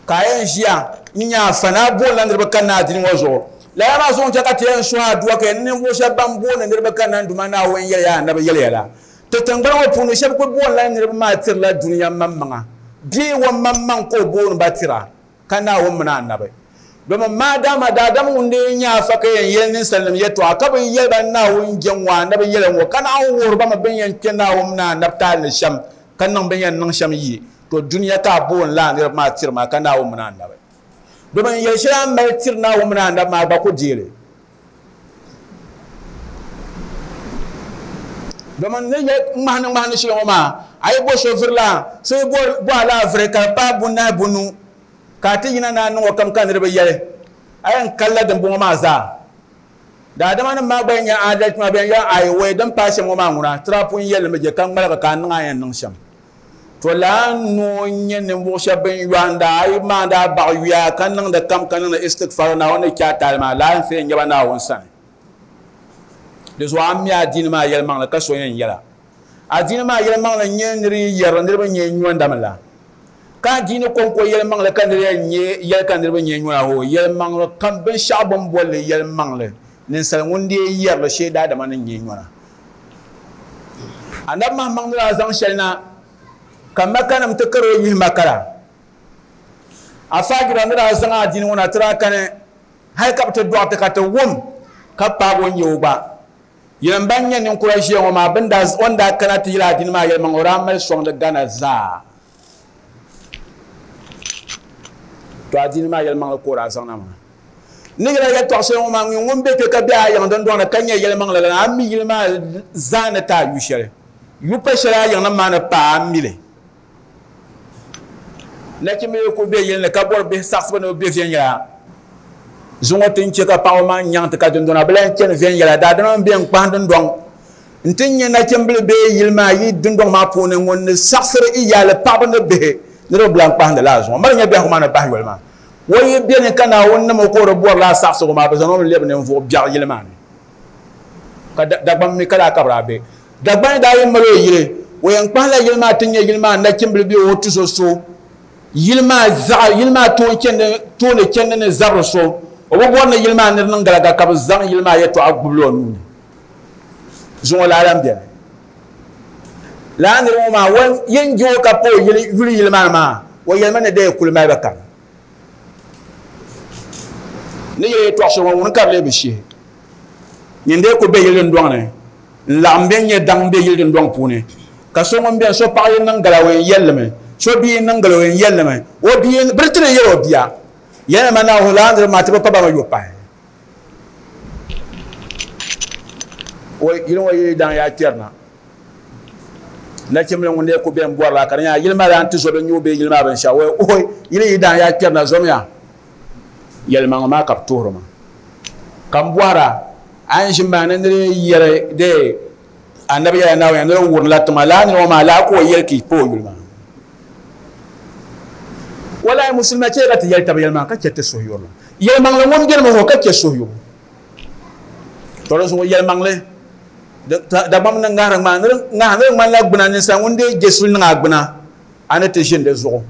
Ka a yɛn ʒiya n-nya afa ni a boonila niriba kanna a dini ŋɔ zuɣu. Lala maa zuɣu n-chɛ ka ti yɛn suhi aduwa ka yɛn ninvuɣ shɛb ban booni niriba kanna n-Duuma Naawuni yɛliya anabi yɛliya la. Ti tiŋgbani ŋɔ puuni shɛb kul boonila niriba maa tirila dunia maŋmaŋa bee o maŋmaŋ ka o booni ba tira, ka Naawuni mini anabi. Domin maadama daadam ŋun lee nyɛ afa ka yɛn yɛli ninsalinim yɛtɔɣa ka bi yɛli ba Naawuni jɛm ŋɔ anabi yɛla ŋɔ, ka naɣ wuhiri ba mi bɛ ni yɛn kpe Naawuni mini anabi taali ni shɛm, ka niŋ bɛ ni yɛn niŋ shɛm yi, to dunia ka a booni lala niriba maa tiri maa ka Naawuni mini anabi. Domin yɛli shɛli a ni mali tiri Naawuni mini anabi maa, a gba ku deei li. Domin ni yɛli ŋmahini ŋmahini shɛli ŋɔ maa, a yi bo so viri la, so yi bo a laa viri ka di paai bunahi bunu. Ka a ti yina ni a niŋ o kam ka niriba yɛli, A yɛn kalila dimbɔŋɔ maa zaa. Daadamanim maa gba yɛn nya aadalchi maa, bɛ yɛn yɛli, Aai, wɛi din paai shɛm ŋɔ maa ŋuna, ti daa pun yɛli li mi je ka ŋmaligi ka a niŋ a ni yɛn niŋ shɛm. To lala noo n-nyɛ ninvuɣ shɛb bɛn yɔhindi a yi maandi a baɣa yuya ka niŋdi kam ka niŋdi istigfar Naawuni ni chɛ a taali maa, lala n-ti yɛn nyɛ ba Naawuni sani. Di zuɣu a mi adiini maa yɛlimaŋli ka so yɛn yɛl a. Adiini maa yɛlimaŋli n-nyɛ nir yi yɛri niriba nyɛ nyɔndami la. Ka adiini kɔŋko yɛlimaŋli ka nir yɛn nyɛ yɛli ka niriba nyɛ nyɔna hoo, yɛlimaŋli kam binshɛɣu bɛ ni boli li yɛlimaŋli, ninsal ŋun dii yɛri li shee daadama ni nyɛ nyɔna. Anabi Mahammaŋ ni daa zaŋ shɛli na ka Makanim ti kari o yihi Maka la, Afaajira ni daa zaŋ adiini ŋɔ na ti daa kani hali ka bɛ ti dɔɣi ti ka ti wum ka paagi o nya o gba. Yinim ban nyɛ ninkura ʒiya ŋɔ maa, o ni daa kana ti yɛli adiini maa yɛlimaŋli, o daa mali sɔŋdi Ghana zaa. To adiini maa yɛlimaŋli ka o daa zaŋ na maa. N ni yɛli a yɛltɔɣa shɛli ŋɔ maa, ŋun be kpe ka be a yiŋ dundɔŋ ni ka nyɛ yɛlimaŋli lana, a mi yili maa zaa ni ti a yu shɛli. Yu pa shɛli a yiŋnim maa ni paai a mi li. Nachimba yi kuli be yili ni ka bɔri bihi saɣisibu ni bɛ be viɛnyɛla, zuŋɔ ti ni che ka paɣaba maa nyaŋ ti ka dundɔna bi lahi chani viɛnyɛla. Daadama m-be n-kpahi dundɔŋ nti nya nachimbila bee yili maa yi dundɔŋ maa puuni ŋun ni saɣisiri iyaali paɣaba ni bihi ni di bi lahi kpahindi lala zuŋɔ. Mali nya biɛhigu maa ni bahi yoli maa. O yi beni ka Naawuni niŋ o ka o di bɔri lala saɣisigu maa, bɛ zaŋ o mi lebi ninvuɣ biɛɣu yili maa ni. Ka Dagbaŋ mi ka daa ka bɛ daa be. Dagbaŋ daa yi mali o yili, o yɛn kpahila yili maa ti nya yili maa nachimbila bee o tuzo so. Yili maa zaɣa, yili maa tooni chandi ni zabiri so. O bi bɔri ni yili maa niri niŋ galaga ka bɛ zaŋ yili maa yɛtɔɣa gbubila o nuu ni. Zuŋɔ lala lan beni. Lala niriba ŋɔ maa, yin je o ka pa o yuli yili maa ni maa, o yɛlimi ni dee kuli mali ba kam. Ni yɛli yɛtɔɣ shɛli ŋɔ, ŋuni ka di lee bi shihi? Nyin dee kuli be yili dindɔŋ ni n-laɣim bɛn nyɛ daŋ be yili dindɔŋ puuni, ka so ŋun beni, so paɣa yi niŋ gala o yɛn yɛli li mi, so bia yi niŋ gala o yɛn yɛli li mi, o bia yi, bɛ ti lee yɛli o bia, yɛlimi ma Naawuni lala niriba maa ti bi pa ba mi yo pahi. O yili ŋɔ yi daŋ yaa kpɛrina. Nachimbili ŋun lee ku bɛn bɔrila ka di nyɛla yili maa daa ti zo bɛ nyuu bee yili maa binshɛɣu o ooi yili yi daŋ yaa kpɛrina zomiya yɛlimaŋli maa ka bɛ tuhiri ma ka m bɔhira a ni ʒi maa ni ni yɛli dee anabi yɛla Naawuni ni di wurimla tiŋa lala nira ŋɔ maa lala ka o yɛli ka yi pa o yuli maa walahi musulima chɛ ka ti yɛli taba yɛlimaŋli ka chɛ ti suhuyurili yɛlimaŋli ŋun beni mi hɔ ka chɛ suhuyubu to di zuɣu yɛlimaŋli Dagbamb ni ŋahiri ŋmaa ni di ŋmanila gbuna ninsal ŋun dee je suli niŋ a gbuna a ni ti ʒini di zuɣu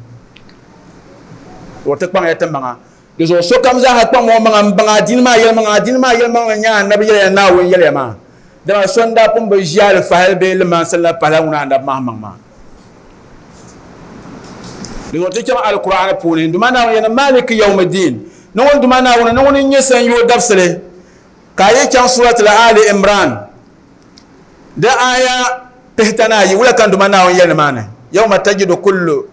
o ti kpaŋya ti maŋa di zuɣu sokam zaaha kpaŋm o maŋa m-baŋ adiini maa yɛlimaŋli adiini maa yɛlimaŋli n-nyɛ anabi yɛliya Naawuni yɛliya maa dama so n-daa pun bi ʒi alifahili bee limansili la pahila ŋuna anabi Mahammaŋ maa di zuɣu ti chaŋ Alkur'aani puuni n Duuma Naawuni yɛli ni Maaliki yawmiddin ni ŋun Duuma Naawuni ni ŋuni n-nyɛ sanyoo dabisili Ka a yi chaŋ Surat Al-Ali Imran di aaya 42, wula ka n Duuma Naawuni yɛli nimaani? Yawma tajidu kullu.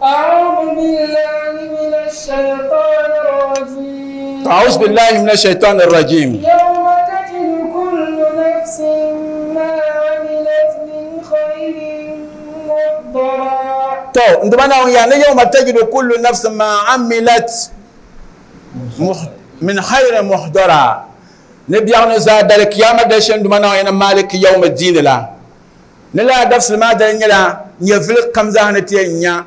A'udhu billahi minash shaytanir rajim. A'udhu billahi minash shaytanir rajim. Yawma tajidu kullu nafsin ma amilat min khayrin muhdara. To, n Duuma Naawuni yɛli ni yawma tajidu kullu nafsin ma amilat min khayrin muhdara ni biɛɣu ni zaa dali kiyama dali shɛli Duuma Naawuni yɛn maaliki yawmi diini la ni lala dabisili maa dali nyɛla nyɛvili kam zaa ni ti yɛn nya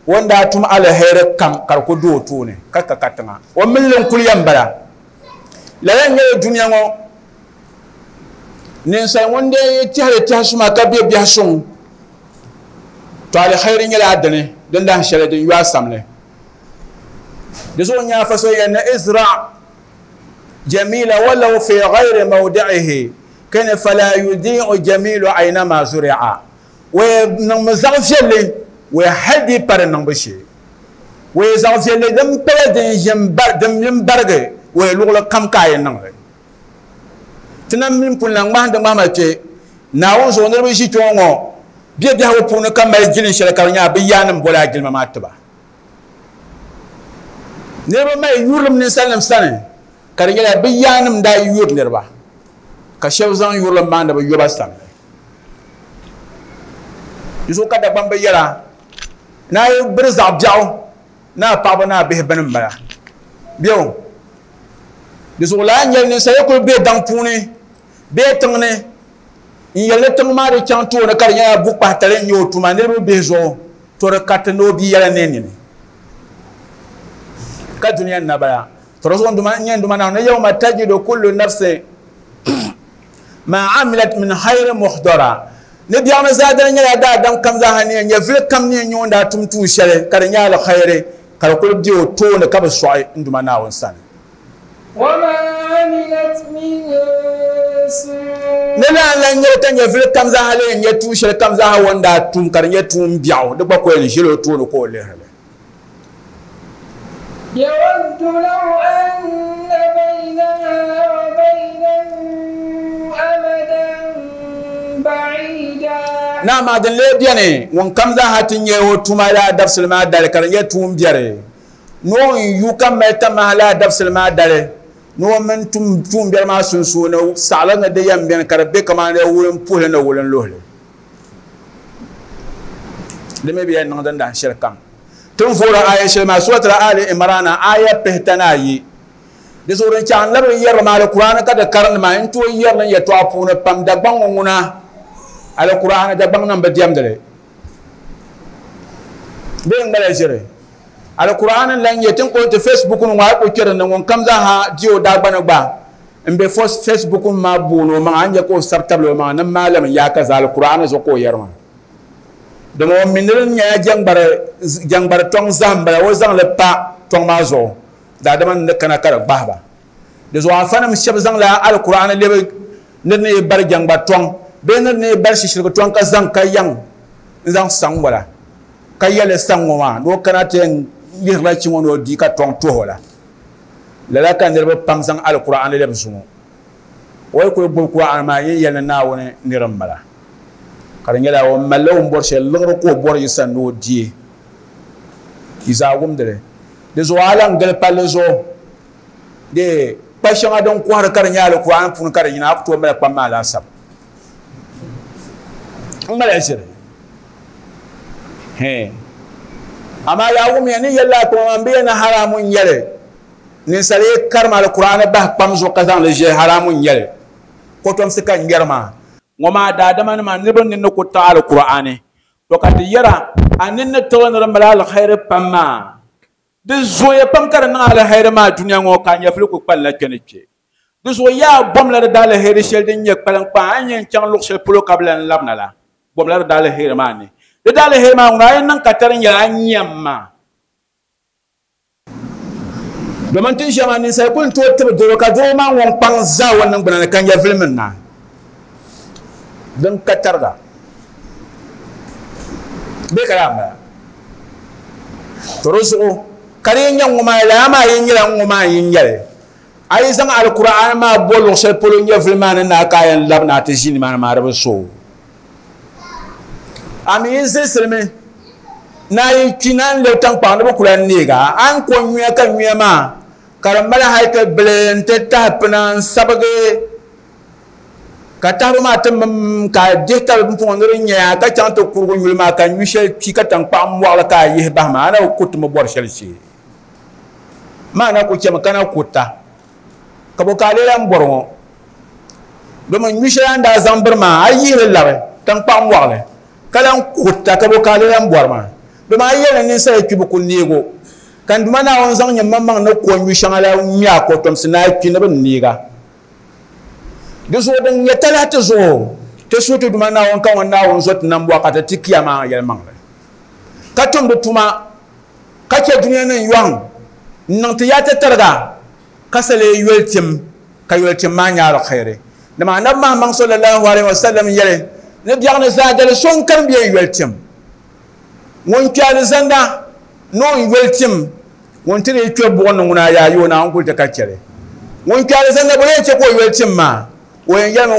o ni daa tum aliheri kam ka di ku do o tooni ka ka katiŋa o mini li n-kuli yɛn bala lala n-nyɛli dunia ŋɔ ninsal ŋun dee tɛhiri tɛhi suma ka be biɛhi suŋ to aliheri nyɛla a dini din dahin shɛli din yo a samli Di zuɣu n-nyɛ afa so yɛn ni izra jamila walau fi ghayri mawdi'ihi kani fala yudi'u jamilu aynama zuri'a. O yɛn niŋmi zaɣ viɛlli o yɛn hali di pa di niŋbu shee. O yɛn zaɣ viɛlli din pala din ʒi m-barigi o yɛn luɣili kam ka a yɛn niŋ li. Ti na mini pun lan ŋmahindi ŋmahima kpe Naawuni zuɣu niriba ʒi kpe ŋɔ ŋɔ bɛ biɛhigu puuni ka mali jilin shɛli ka di nyɛla bɛ yaannim boli a jilima maa ti ba. Niriba mali yurilim ninsalinim sani ka di nyɛla bɛ yaannim daa yuri niriba ka shɛba zaŋ yurilim maa ni bɛ yo ba samli. Di zuɣu ka Dagbamba yɛra, Ni a yi biri zaɣ biɛɣu Ni a paɣaba ni a bihi bini n bala bɛ di zuɣu laa n nyɛli ninsal kuli bɛ daŋ puuni bee tiŋ ni n yɛli tiŋ maa di chaŋ tooni ka di nyɛla bukpahi tali n nyɛ o tuma niriba bihi zuɣu to di kariti ni o bia yɛla ne nini ka dunia n na bala to di zuɣu n nyɛ nduma na ni yawma tajidu kullu nafsin ma amilat min khayrin muhdara ni biɛɣuni zaadali nyɛla daadam kam zaaha ni nyɛ vili kam ni nyɛ ŋun daa tum tuun shɛli ka di nyɛ alkhairi ka di kuli bɛ o tooni ka bi sɔɣi n duma Naawuni sani. Ni lan lan nyɛli ka nyɛ vili kam zaaha lee nyɛ tuun shɛli kam zaaha o ni daa tum ka di nyɛ tuun biɛɣu di gba ko yɛn ʒili o tooni ka o lihiri li. يود لو أن بينها وبينه أمدا بعيدا. نعم din lee beni ŋun kam zaaha ti nyɛ o tuma laa dabisili maa dali ka di nyɛ tuun biɛri ni o n yu ka mali tamaha laa dabisili maa dali ni o mini tuun biɛri maa sunsuuni saɣali ni di yɛn beni ka di be kamani wulin puhili ni wulin luhili di mi bi yɛn niŋ din dahin shɛli kam. Tin foora aya shɛli maa suratul Ali Imran aya 42 di zuɣu din chaŋ labi yɛrili maa Alkur'ani ka di karindi maa n tooi yɛrili yɛltɔɣa puuni pam Dagbaŋ ŋɔ ŋuna Alkur'ani Dagbaŋ nim bi diɛmdili bee n ŋmala ʒiri Alkur'ani n lan nyɛ tin ko ti Facebook ŋɔ a ku kpɛri ni ŋun kam zaaha di o daagbani gba n be Facebook maa booni o maŋa a nyɛ ka o sabi tabili o maŋa ni maalim yaa ka za Alkur'ani zuɣu ka o yɛri maa dama o mi niri nyɛla jɛŋgbari tɔŋ zaham bala o zaŋli pa tɔŋ maa zuɣu daadama ni kana ka di gbahi ba di zuɣu afanim shɛba zaŋla Alkur'ani lebi niri ni yi bari jɛŋgbari tɔŋ bee niri ni yi bari shishirigi tɔŋ ka zaŋ ka yaŋ n zaŋ saŋ ŋɔ la ka yɛli saŋ ŋɔ maa ni o kana ti yɛn lihirila chi ŋɔ ni o di ka tɔŋ tuhi o la lala ka niriba pam zaŋ Alkur'ani lebi zuŋɔ o yi kuli gbubi Kur'ani maa yin yɛli ni Naawuni niri n bala ka di nyɛla o malila o ni bɔri shɛli liɣiri ka o bɔri yi sani ni o die yi zaa wumdili di zuɣu a lan gili palli zuɣu de kpa shɛŋa din kɔhiri ka di nyɛ Alkur'ani puuni ka di yina a ku tooi mali kpam maa laasabu n ŋmala ʒiri amaa yaa wumya ni yɛlila kpama maa n bi yɛli ni haramu n nyɛli ninsali yi karima Alkur'ani bahi kpam zuɣu ka zaŋli ʒe haramu n nyɛli kotomsi ka n ŋmɛri maa ŋɔ maa daadama nima niriba ninni ku taɣi Alkur'ani to ka ti yɛra a ninni tiɣili ni di mali alkhairi pam maa di zooya pam ka di niŋ alkhairi maa dunia ŋɔ ka a nyɛvili ku kpalinla kpe ni kpe di zuɣu yaa bomla di daaliheri shɛli din nyɛ kpalinkpaa a ni yɛn chaŋ luɣu shɛli polo ka bi lan labina la bomla di daaliheri maa ni di daaliheri maa ŋuna a yi niŋ ka tari nyɛla a nyam maa domin tin shɛŋa maa ninsal kuli n tooi tibi doro ka doro maa ŋun kpaŋ zaa o niŋgbuna ni ka nyɛvili mini na din ka tariga bee ka daa bala to di zuɣu ka di yi nyɛ ŋɔ maa lala maa yi nyɛla ŋɔ maa yi nyɛli a yi zaŋ Alkur'ani maa bo luɣu shɛli polo nyɛvili maa ni na ka a yɛn labina a ti ʒi nimaani maa di bi so a mi yi zilsilimi ni a yi kpi na n lebi tankpaɣu ni bi ku lan neega a ni ko nyuya ka nyuya maa ka di mali hali ti bili n ti tahi pina n sabigi ka tahibu maa ti mim ka a dihi tabi pumpɔŋɔ ni di nyɛya ka chaŋ ti kurugu nyuli maa ka nyu shɛli kpi ka tankpaɣu mɔɣili ka a yihi bahi maa a na bi kuriti mi bɔri shɛli shee maa na ku chɛmi ka na kurita ka bo ka a lee lan bɔri ŋɔ domin nyu shɛli a ni daa zaŋ biri maa a yihili labi tankpaɣu mɔɣili ka lan kurita ka bo ka a lee lan bɔri maa domin a yɛli ni ninsal kpibu ku neego ka n Duuma Naawuni zaŋ nyɛ maŋmaŋ ni ko nyu shɛŋa la ŋmɛ a kotomsi ni a kpi ni bi neega di zuɣu din nyɛ talahi ti zuɣu ti suhu ti Duuma Naawuni ka ŋun Naawuni zo ti nambɔɣu ka ti ti kiyama yɛlimaŋli ka tumdi tuma ka chɛ dunia ni yɔŋ n niŋ ti yaa ti tariga ka sa lee yoli tim ka yoli tim maa nyɛ alkhairi dama anabi Muhammad sallallahu alaihi wasallam yɛli ni biɛɣuni zaadali so n kani bɛ yoli tim ŋun kpi alizanda ni o yoli tim ŋun ti dii kpe buɣum ni ŋuna yaa yo Naawuni kuli ti ka chɛli ŋun kpi alizanda bo yɛn chɛ ka o yoli tim maa o yɛn yɛlimi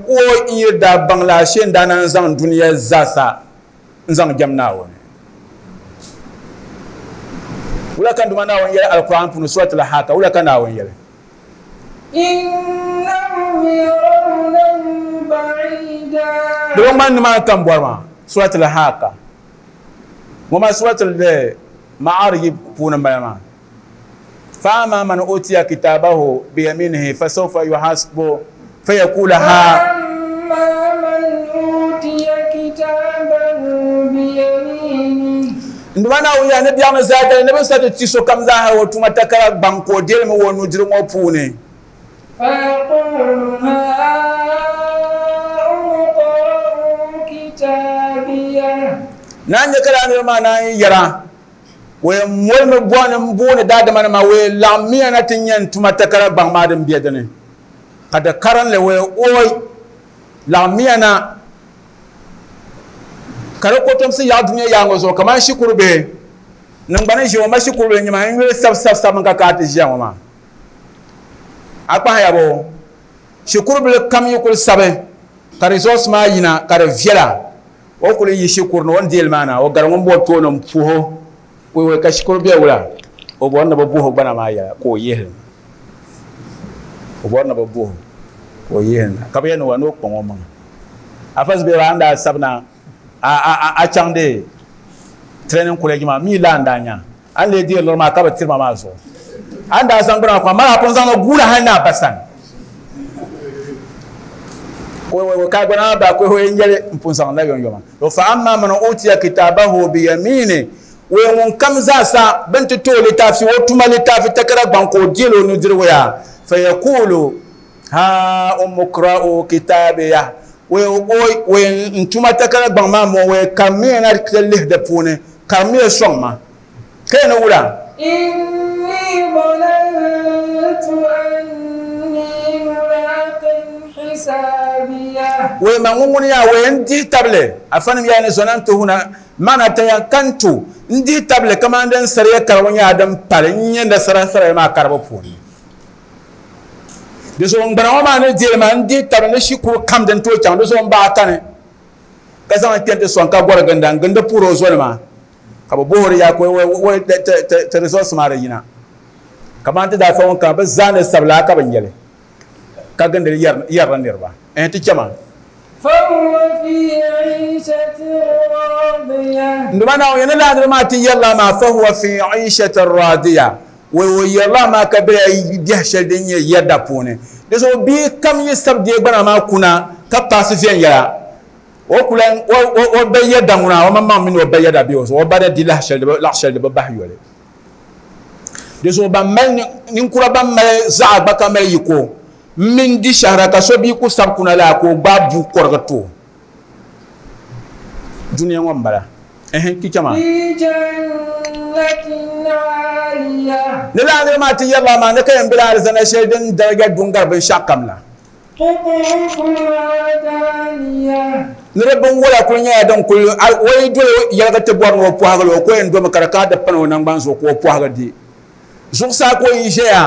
o n yi daa baŋ la ashee n daa naan zaŋ dunia zaasa n zaŋ jɛm Naawuni wula ka Duuma Naawuni yɛli Alkur'an puuni suratul Haqqa wula ka Naawuni yɛli innahum yarawnahu ba'ida di bi ŋmani nimaani ka n bɔri maa suratul Haqqa ŋɔ maa suratul Ma'arij puuni m-bala maa. Fa-amma man utiya kitabahu biyaminihi fasawfa yuhasbu fayaqulu ha. Fa-amma man utiya kitabahu biyaminihi. N Duuma Naawuni yaa ni biɛɣuni zaadali ni bɛ ni sa ti ti sokam zaaha o tuma takara gbaŋ ka o deeli mi o nudirigu ŋɔ puuni. Fayaqulu haa'umu iqra'uu kitaabiya. Naan nyɛ ka lala niriba maa naan yi yɛra, O yɛn molimi bɔni m-booni daadamanima, o yɛn laɣimmiya na ti nya n tuma takara gbaŋ maa din be di ni, ka di karinli, o yɛn ooi, laɣimmiya na ka di kotomsi yaɣi dunia yaaŋa zuɣu kamani shikuru bihi niŋgbani ʒiya ŋɔ ma shikuru bihi n-nyɛ ma n yuli sabi sabi sabimi ka ka a ti ʒiya ŋɔ maa. A kpahiya bo? Shikuru bili kam yi kuli sabi ka results maa yina ka di viɛla, o kuli yi shikuru ni o ni deeli maa na, o gari ŋun bɔri tooni m-puhi o, wei ka shikuru bɛ wula? O bɔri ni bɛ buhi o gbana maa yɛla ka o yihi li na. O bɔri ni bɛ buhi o ka o yihi li na. Ka bɛ yɛli ni wa ni o kpaŋ o maŋa. Afa Zubairu a ni daa sabi na a chaŋ di training college maa mi laa n-daa nya a ni lee deeri liɣiri maa ka bi tiri ma maa zuɣu. A ni daa zaŋ gbana maa kuma mali a pun zaŋ li guula hali ni a ba sani. Ka gbana maa ba ka o yɛn yɛli n pun zaŋ la yomyoma. To fa amma man utiya kitabahu biyamini, wee ŋun kam zaasa bɛ ni ti ti o litaafi, o tuma litaafi takara gbaŋ ka o deeli o nudirigu yaa, fa yakulu ha umukra'u kitabiya, wee wee n tuma takara gbaŋ maa mɔ, wee karimiya na ti lihi di puuni, karimiya sɔŋ ma. Ka yɛn ni wula? Inni zanantu anni mulaqin hisabiya. Wee ma ŋun ŋuni yaa wee n dihi tabili, afanim yaa ni zanantu huna maana tayakantu, n dihi tabili kamani din sariya karibu nyɛla din pali n nyɛ nasara sariya maa karibu puuni. Di zuɣu n gbana ŋɔ maa ni deeli maa n dihi tabili ni shikuru kam din tooi chaŋ di zuɣu n baɣa kani ka zaŋ kpɛ nti sɔŋ ka gɔri ginda n gindi puhiri o zonima ka bɛ bohiri ya ka ti results maa di yina. Kamani ti daa fa ŋun kana bɛ zaa ni sabila ka bɛ nyɛli ka gindi yɛrila niriba. Ɛhɛn ti chama. Fahuwa fi iishatin radiya. N Duuma Naawuni ni lahi niriba maa ti yɛrila maa fahuwa fi iishatin radiya. Wei o yɛrila maa ka bela biɛhi shɛli din nyɛ yɛda puuni. Di zuɣu bia kam yi sabi deei gbana maa kuna ka paasi viɛnyɛla, o ku lan o ba yɛda ŋuna, o maŋmaŋ mini o ba yɛda be o zuɣu, o ba da di lahi shɛli di bi bahi yoli. Di zuɣu ban mali ninkura ban mali zaɣa gba ka mali yiko m-mini di shɛhira ka so bia ku sabi kuna laa ka o gbaai bua kɔrigi ti o. Dunia ŋɔ m-bala. Ɛhɛn, ti chama. Fi jannatin aaliya. Ni lala niriba maa ti yɛrila maa ni ka yɛn bela alizanda shɛli din daraja du n-gari binshɛɣu kam la. Qutuufuhaa daaniya. Ni di binwola kuli nyɛla din kuli, o yi doli yɛligi ti bɔri ni o pɔhigi li, o ko yɛn domi ka di kana ti pani o naŋgbani zuɣu ka o pɔhigi di. Zuɣusaa ka o yi ʒɛya,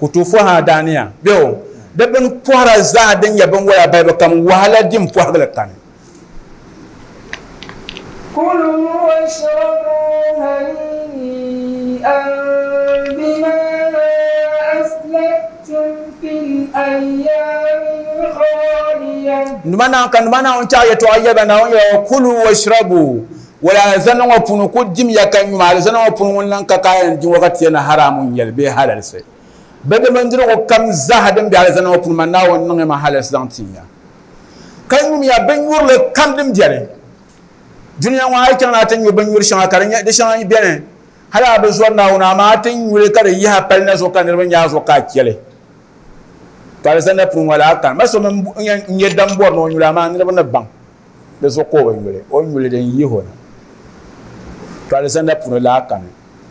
qutuufuhaa daaniya, bee o di bini pɔhira zaa din nyɛ binwola balibu kam wahala dim pɔhigi li kani. Kulu washrabu hani'an bima aslaftum fil ayyamil khaliya. Numa na ka numa na chaɣ yɛtɔɣa yɛba Naawuni yɛla ŋɔ, Kulu washrabu, wala alizanda ŋɔ puuni ku dimya ka nyuma, alizanda ŋɔ puuni ŋun lan ka ka a yɛn di ŋɔ ka ti yɛn ni haramu n-nyɛli bee halalisi. Bɛ di bindirigu kam zaaha din be alizanda ŋɔ puuni ma Naawuni niŋ ma halalisi zaŋ tin ya. Ka nyumiya binnyurili kam din beni dunia ŋɔ, a yi chaŋ ni a ti nyu binnyuri shɛŋa ka di shɛŋa beni hali a bi zɔri Naawuni, amaa a ti nyu li ka di yihi a pali na zuɣu ka niriba nya a zuɣu ka a chɛ li. Ka alizanda puuni ŋɔ laa kani. Ma so mi n-nyɛ dam bɔri ni o nyu li, amaa niriba ni baŋ di zuɣu ka o bi nyu li, o ni nyu li din yihi o na. To alizanda puuni laa kani.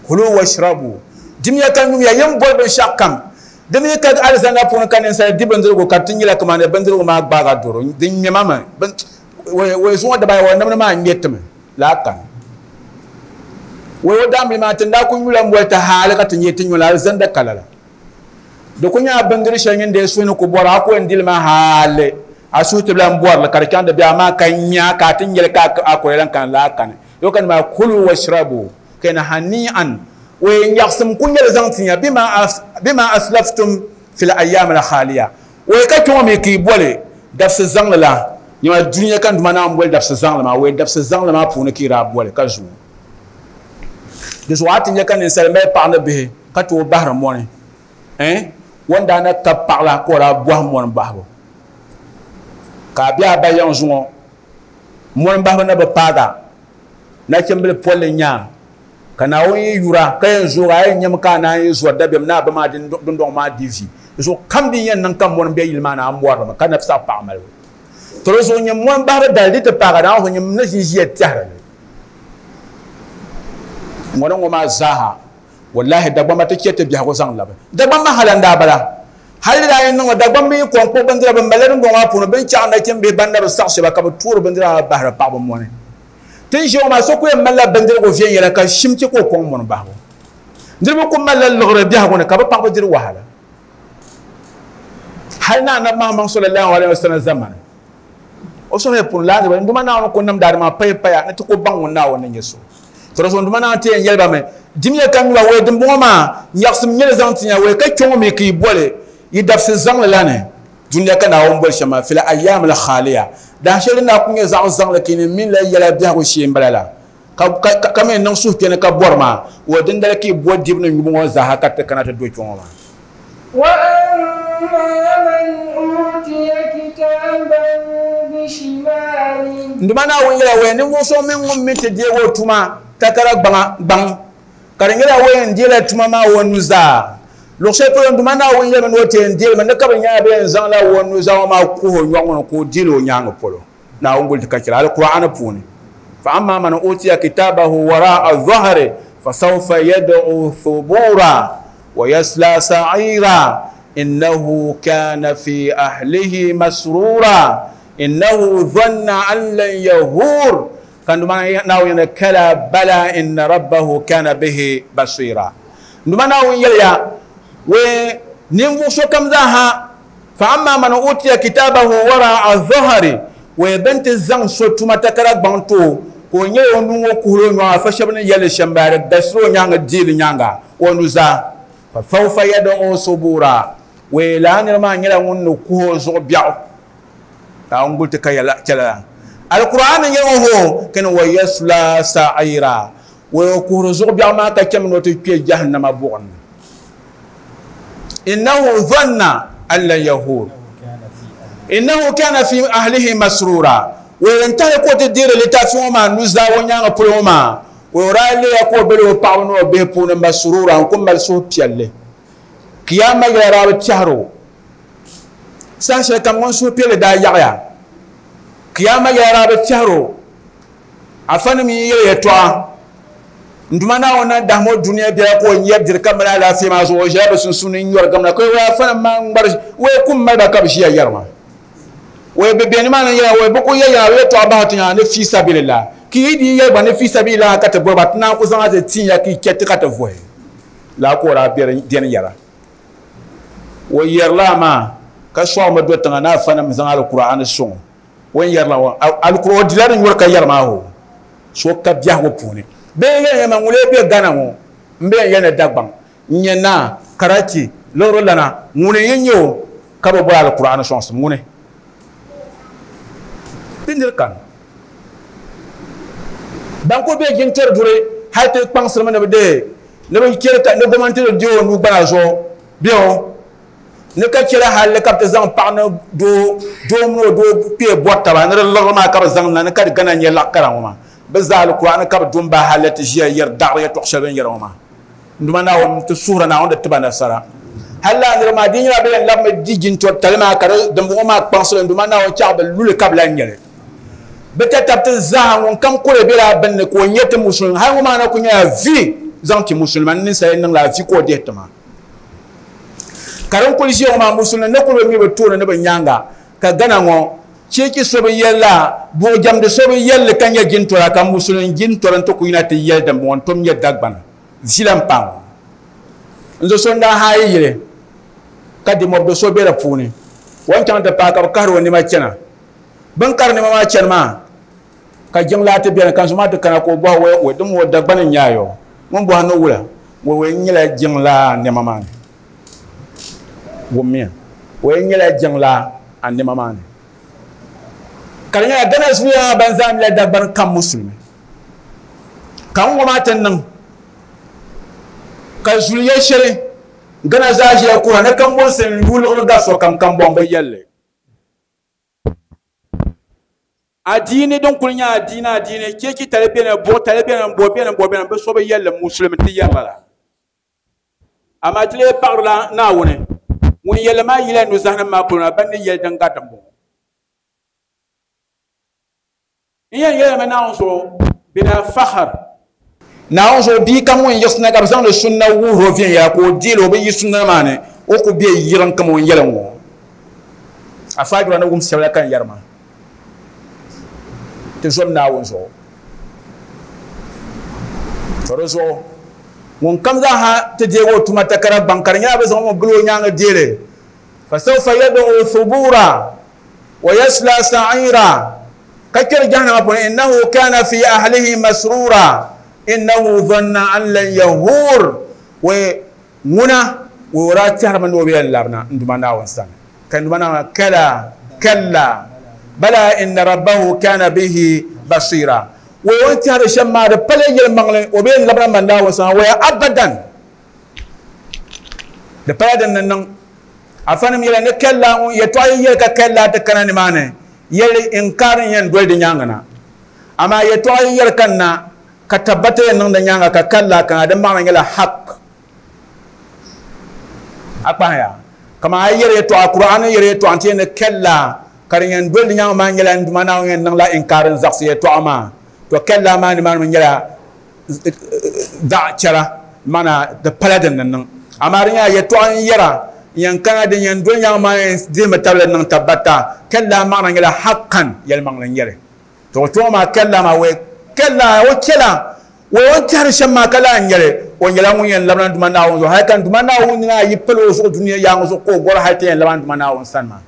Kulu washrabu, dimiya ka nyumiya, yin boli binshɛɣu kam. Di mi ka alizanda puuni ka ninsal di bindirigu ka di ti nyɛla kamani bindirigu maa gbaaga doro, di ŋmɛma mi, wei zuŋɔ dibaayi o nimdi maa ŋmɛtimi laa kani. Wei o daambili maa ti ni daa kuli nyula m-boli ti haali ka ti nyɛ ti nyuli alizanda ka lala. Di ku nyɛla bindiri shɛli nyin dee suhu ni ku bɔri a ku yɛn dili maa haali a suhu ti lan bɔri li ka di chaŋ di be amaa ka nya ka a ti nyɛli ka a kuli lan kani laa kani. Yo ka nima kulu washrabu ka yɛn hani'an o yɛn nyaɣisim ku nyɛli zaŋ ti ya bima aslaftum fil ayyaam al khaliya o yɛn ka kpɛŋɔ mi ka yi boli dabisi zaŋli la nyɛma dunia ka n Duuma Naawuni boli dabisi zaŋli maa o yɛn dabisi zaŋli maa puuni ka yi daa boli ka zuŋɔ. Di zuɣu a ti nya ka ninsal mali paɣa ni bihi ka tooi bahiri mɔni. O ni daa na kabi paɣa la ka o daa bɔhi mɔni bahibu. Ka a be a ba yiŋ zuŋɔ, mɔni bahibu na bi paaga, nachimbili polli n-nyɛ a, ka Naawuni yi yura ka yɛn zoog a, a yɛn nyami ka a naan yi zɔri dabiɛm ni a ba maa dundɔŋ maa di vi. Di zuɣu kam din yɛn niŋ ka mɔni be yili maa ni, a mɔri li mi ka nabi saɣi paɣa malibu. To di zuɣu nyɛ mɔni bahibu dali di ti paagi Naawuni zuɣu nyɛ ni ʒin ʒiya tɛhiri li. Ŋɔ ni ŋɔ maa zaaha, wallahi Dagbamba ti chɛ ti biɛhigu zaŋ labi. Dagbamba hali n-daa bala. Hali di daa yi niŋ Dagbamba yi kɔŋ kpuɣi bindira bɛ malila dundɔŋ maa puuni, bɛ ni chaɣi nachimbihi ban na bi saɣi shɛba ka bɛ toori bindira maa bahiri paɣaba mɔni. Ti ni ʒiya ŋɔ maa so ku yɛn malila bindirigu viɛnyɛla ka shim chɛ ka o kɔŋ mɔni bahibu. Niriba ku malila liɣiri biɛhigu ni ka bɛ paɣaba diri wahala. Hali ni Anabi Muhammad sallallahu alaihi wasallam zamani, o suhu pun lahi ni Nduma Naawuni ku nimdi adama paya paya ni ti ku baŋ ŋun Naawuni ni nyɛ so. To di zuɣu Nduma Naawuni ti yɛn yɛli ba mi, Dimiya ka nyula wee dimbɔŋɔ maa, nyaɣisim nyɛli zaŋ ti ya wee ka kpe ŋɔ mi ka yi boli yi dabisi zaŋli la ni. Dunia ka Naawuni boli shɛm maa, fil ayyaamil khaaliya, dahin shɛli din daa ku nyɛ zaɣ zaŋli ka yi ni mini la yɛla biɛhigu shee m-bala la, ka mi niŋ suhupiɛlli ka bɔri maa, o dindali ka yi bo dibu ni nyubu ŋɔ zaaha ka ti kana ti do kpe ŋɔ maa. وأما من أوتي كتابه بشماله. Nduma Naawuni yɛla waya ninvuɣ so mini ŋun mi ti deeg o tuma takara gbaŋ, ka di nyɛla o yɛn deela tuma maa o nuzaa. Luɣ shɛli polo Nduma Naawuni yɛlimi ni o ti yɛn deelimi ni ka bɛ nyɛla bɛ yɛn zaŋla o nuzaa ŋɔ maa kuhi o nyɔɣu ŋɔ ni ka o deeli o nyaaŋa polo. Naawuni guli ti ka chɛli Alkur'aani puuni. Fa amma man utiya kitabahu wara'a dhahri fa sawfa yad'u thubura wa yasla sa'ira innahu kana fi ahlihi masrura innahu dhanna an lan yahur. Ka Nduma Naawuni yɛli kala bala inna rabbahu kana bihi basira. Nduma Naawuni yɛliya we ninvuɣ sokam zaaha fa amma man utiya kitabahu wara'a dhahri we bɛn ti zaŋ so tuma takara gbaŋ ti o ka o nyɛ o nuu ŋɔ kuhiri o nyɔŋa fa shɛba ni yɛli shɛm bala di galisiri o nyaaŋa deeli nyaaŋa o nuzaa fa sawfa yad'u subura we lala nira maa nyɛla ŋun ni kuhi o zuɣu biɛɣu ka n guli ti ka yɛla chɛla Alkur'an ni nyɛ ŋɔ ho kani wa yasla sa'ira we o kuhiri zuɣu biɛɣu maa ka chɛmi ni o ti kpe jahannama buɣim ni innahu dhanna an lan yahur innahu kana fi ahlihi masrura we n tahi ka o ti deeri litaafi ŋɔ maa nuzaa o nyaaŋa polo ŋɔ maa we o daa leeya ka o bela o paɣaba ni o bihi puuni masrura n ku mali suhupiɛlli kiyama yɛla daa bi tɛhiri o saha shɛli kam ŋun suhupiɛlli daa yaɣiya kiyama yɛla daa bi tɛhiri o afanim yi yɛli yɛtɔɣa Nduma Naawuni na dahim o dunia biɛla ka o nyɛri diri ka mali alaafee maa zuɣu o ʒila bɛ sunsuuni n-nyɔri gamda ka o afanim maa ŋmari o kum mali ba ka bɛ ʒiya yɛri maa o bɛ be nimaani n-yɛra o bɛ ku yɛli yaa yɛtɔɣa bahi ti nyaanga ni fi sabilillah ka yi di yɛli gba ni fi sabilillah ka ti bɔri ba ti naan ku zaŋ a ti tin ya ka yi chɛ ti ka ti vuhi laa ka o daa beni yɛra o yɛrila maa ka sɔɣimi do tiŋa ni afanim zaŋ Alkur'aani sɔŋ o o ni yɛrila ŋɔ Alkur'aan o dila di nyɔri ka yɛri maa o so ka biɛhigu puuni bee yɛn yɛma ŋun lee be Ghana ŋɔ m be yɛn yɛli ni Dagbaŋ n nyɛ naa Karachi liɣiri lana ŋuni n yi nyɛ o ka bi bɔri Alkur'aani sɔŋsim ŋuni ti niri kani ban ku be jintɔri duri hali ti kpaŋsirimi ni bi deei ni bi chɛri ka ni gomnanti ni deei o nuu gbana zuɣu bɛ o ni ka chɛla hali ka bi ti zaŋ paɣa ni doo doo mini o doo kpee bɔri taba ni di liɣiri maa ka bi zaŋ na ni ka di gana nyɛ laɣ kara ŋɔ maa bi zaa Alkur'aani ka bi du m-bahi hali ti ʒiya yɛri daɣiri yɛtɔɣ shɛli bɛ ni yɛri ŋɔ maa. Nduma Naawuni ti suhira Naawuni di tiba nasara. Hali lala niriba maa di nyɛla bɛ yɛn labimi di jintɔri tali maa ka di dimbɔŋɔ maa kpaŋsili Nduma Naawuni chaɣ bɛ luli ka bɛ lahi nyɛli. Bɛ tatabti zaaha ŋun kam kuli bela bini ni ka o nyɛ ti musulimi hali ŋɔ maa na kuli nyɛla vi zaŋ ti musulima ni ninsali niŋla vi ka o dihi ti maa. Ka din kuli ʒiya ŋɔ maa musulimi ni kuli bi mi bɛ tooni ni bɛ nyaaŋa ka Ghana ŋɔ cheechi so bi yɛli la buɣujɛmdi so bi yɛli li ka nyɛ jintɔra ka musulin jintɔri n-ti ku yina ti yɛli dimbɔŋɔ n-tom nyɛ Dagbana vi la m-paai ŋɔ. N zo so n-daa haai yili ka dimɔbi do so be di puuni o ni chaŋ ti paai ka bɛ kahiri o nɛma chana. Bɛ ni kari nɛma maa chani maa ka jiŋlaa ti beni ka n zo maa ti kana ka o bɔhi wai wai dim o Dagbani n-nyɛ a yɔ ŋun bɔhi ni wula wai wai n nyɛla jiŋlaa nɛma maa ni. Wummiya wai n nyɛla jiŋlaa a nɛma maa ni. Ka di nyɛla Ghana zuliya maa ban zaa mila Dagbani kam musulimi ka n ŋɔ maa ti niŋ Ka zuliya shɛli Gana zaa ʒiya kura ni kambonsi n yuliɣiri ga sokam kambɔŋ bi yɛlli. Adiini din kuli nyɛ adiini adiini cheechi tali beni buɣu tali beni bo beni bo beni bi so bi yɛlli musulimi ti yɛri bala. Amaa ti lee paɣirila Naawuni ŋun yɛlli maa yila nuzahinim maa polo na ban ni yɛli din gari dimbɔŋɔ. N yɛn yɛlimi Naawuni zuɣu bila fakhar. Naawuni zuɣu bia kam ŋun yiɣisina ka bɛ zaŋdi sunna wuhiri o viɛnyɛla ka o deeli o bi yi sunna maa ni o ku be yiriŋ kam o ni yɛli ŋɔ. Afaajura ni wum shɛba la ka n yɛri maa. Ti zom Naawuni zuɣu. To di zuɣu ŋun kam zaaha ti deegi o tuma takara gbaŋ ka di nyɛla bɛ zaŋ o gili o nyaaŋa deeli. Fasawfa yad'u thubura wa yasla sa'ira ka kpɛri jahannama puuni innahu kana fi ahlihi masrura innahu dhanna an lan yahur wa ŋuna wa o daa tɛhirimi ni o bi yɛn labina n Duuma Naawuni sani ka n Duuma Naawuni kala kalla bala inna rabbahu kana bihi basira wa o ni tɛhiri shɛm maa di pala yɛlimaŋli o bi yɛn labina man Naawuni sani wa abadan di pala din ni niŋ. Afanim yɛla ni kalla ŋun yɛtɔɣa yi yɛli ka kalla ti kana nimaani yɛli inkaari n yɛn doli di nyaaŋa na. Amaa yɛtɔɣa yi yɛli kanna ka tabbata yɛn niŋ di nyaaŋa ka kalla kana di maɣina nyɛla haq. A kpahiya kaman a yi yɛli yɛtɔɣa Kur'an ni yɛli yɛtɔɣa nti yɛn ni kalla ka din yɛn doli di nyaaŋa maa nyɛla n Duuma Naawuni yɛn niŋla inkaari n zaɣisi yɛtɔɣa maa. To kalla maa nimaani mi nyɛla daɣ chɛra mana di pala din ni niŋ. Amaa di nyɛla yɛtɔɣa n yɛra n yɛn kana din yɛn doli nyaŋ maa yɛn dihimi tabili niŋ tabbata kalla maɣana nyɛla haqqan yɛlimaŋli n nyɛli. To kpɛŋɔ maa kalla maa wai kalla o chɛla wai o ni tɛhiri shɛm maa ka lahi nyɛli o nyɛla ŋun yɛn labina Duuma Naawuni zuɣu hali ka Duuma Naawuni nina yi pali o zuɣu dunia yaaŋa zuɣu ka o gɔri hali ti yɛn labina Duuma Naawuni sani maa.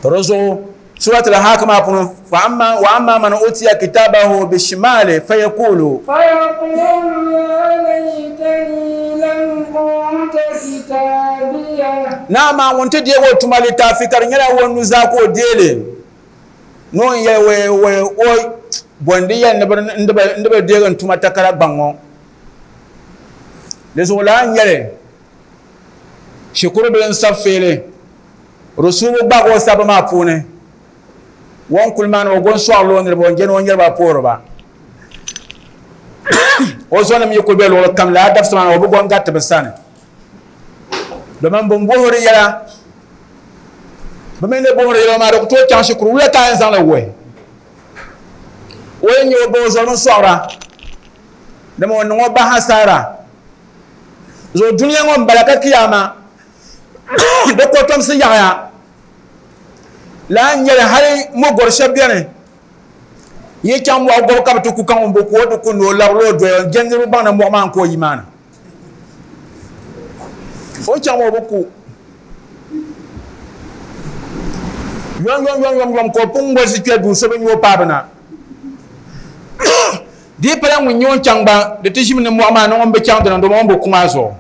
To di zuɣu Surat al-Haqq maa puuni fa amma wa amma man utiya kitabahu bishimali fayaqulu fayaqulu ya laytani lam uta kitabiya. Na maa ŋun ti deegi o tuma litaafi ka di nyɛla o nuzaa ka o deeli ni o ni yɛli wai wai o bɔndi yɛli ni bi deegi n tuma takara gbaŋ ŋɔ. Di zuɣu laa n-nyɛli shikuru bili n-sabi feeli Rusubu gbaagi o sabbu maa puuni o ni kuli maa ni o go n-sɔɣirila o niriba o ni je ni o niriba puhiri ba. O zɔnim yi kuli be luɣili kam lala dabisi maa ni o bi go n-gariti bɛ sani domin bɛ ni bohiri yɛla bɛ mi ni bohiri yɛla maa di ku tooi chaŋ shikuru wula ka a yɛn zaŋ li wuhi o yi nya o ba o zɔrimi sɔɣira dama o niŋ o ba hasaara. Zuɣu dunia ŋɔ m-bala ka kiyaama di kotomsi yaɣaya laa n-nyɛli hali mɔgɔri shɛba beni yi chaŋ mɔɣu gɔbu ka bɛ ti ku ka ŋun bi ku o ti ku ni o labirila o doya n-je niriba baŋ ni mɔɣu maa n-ka o yi maa ni o ni chaŋ maa o bi ku yom yom yom yom yom ka o pun ŋolisi kpe duu so bi nya o paai bi na di yi pala ŋun nyɛ o ni chaŋ gba di ti ʒimi ni mɔɣu maa ni ŋun bi chaŋ dini dama o ni bi ku maa zuɣu.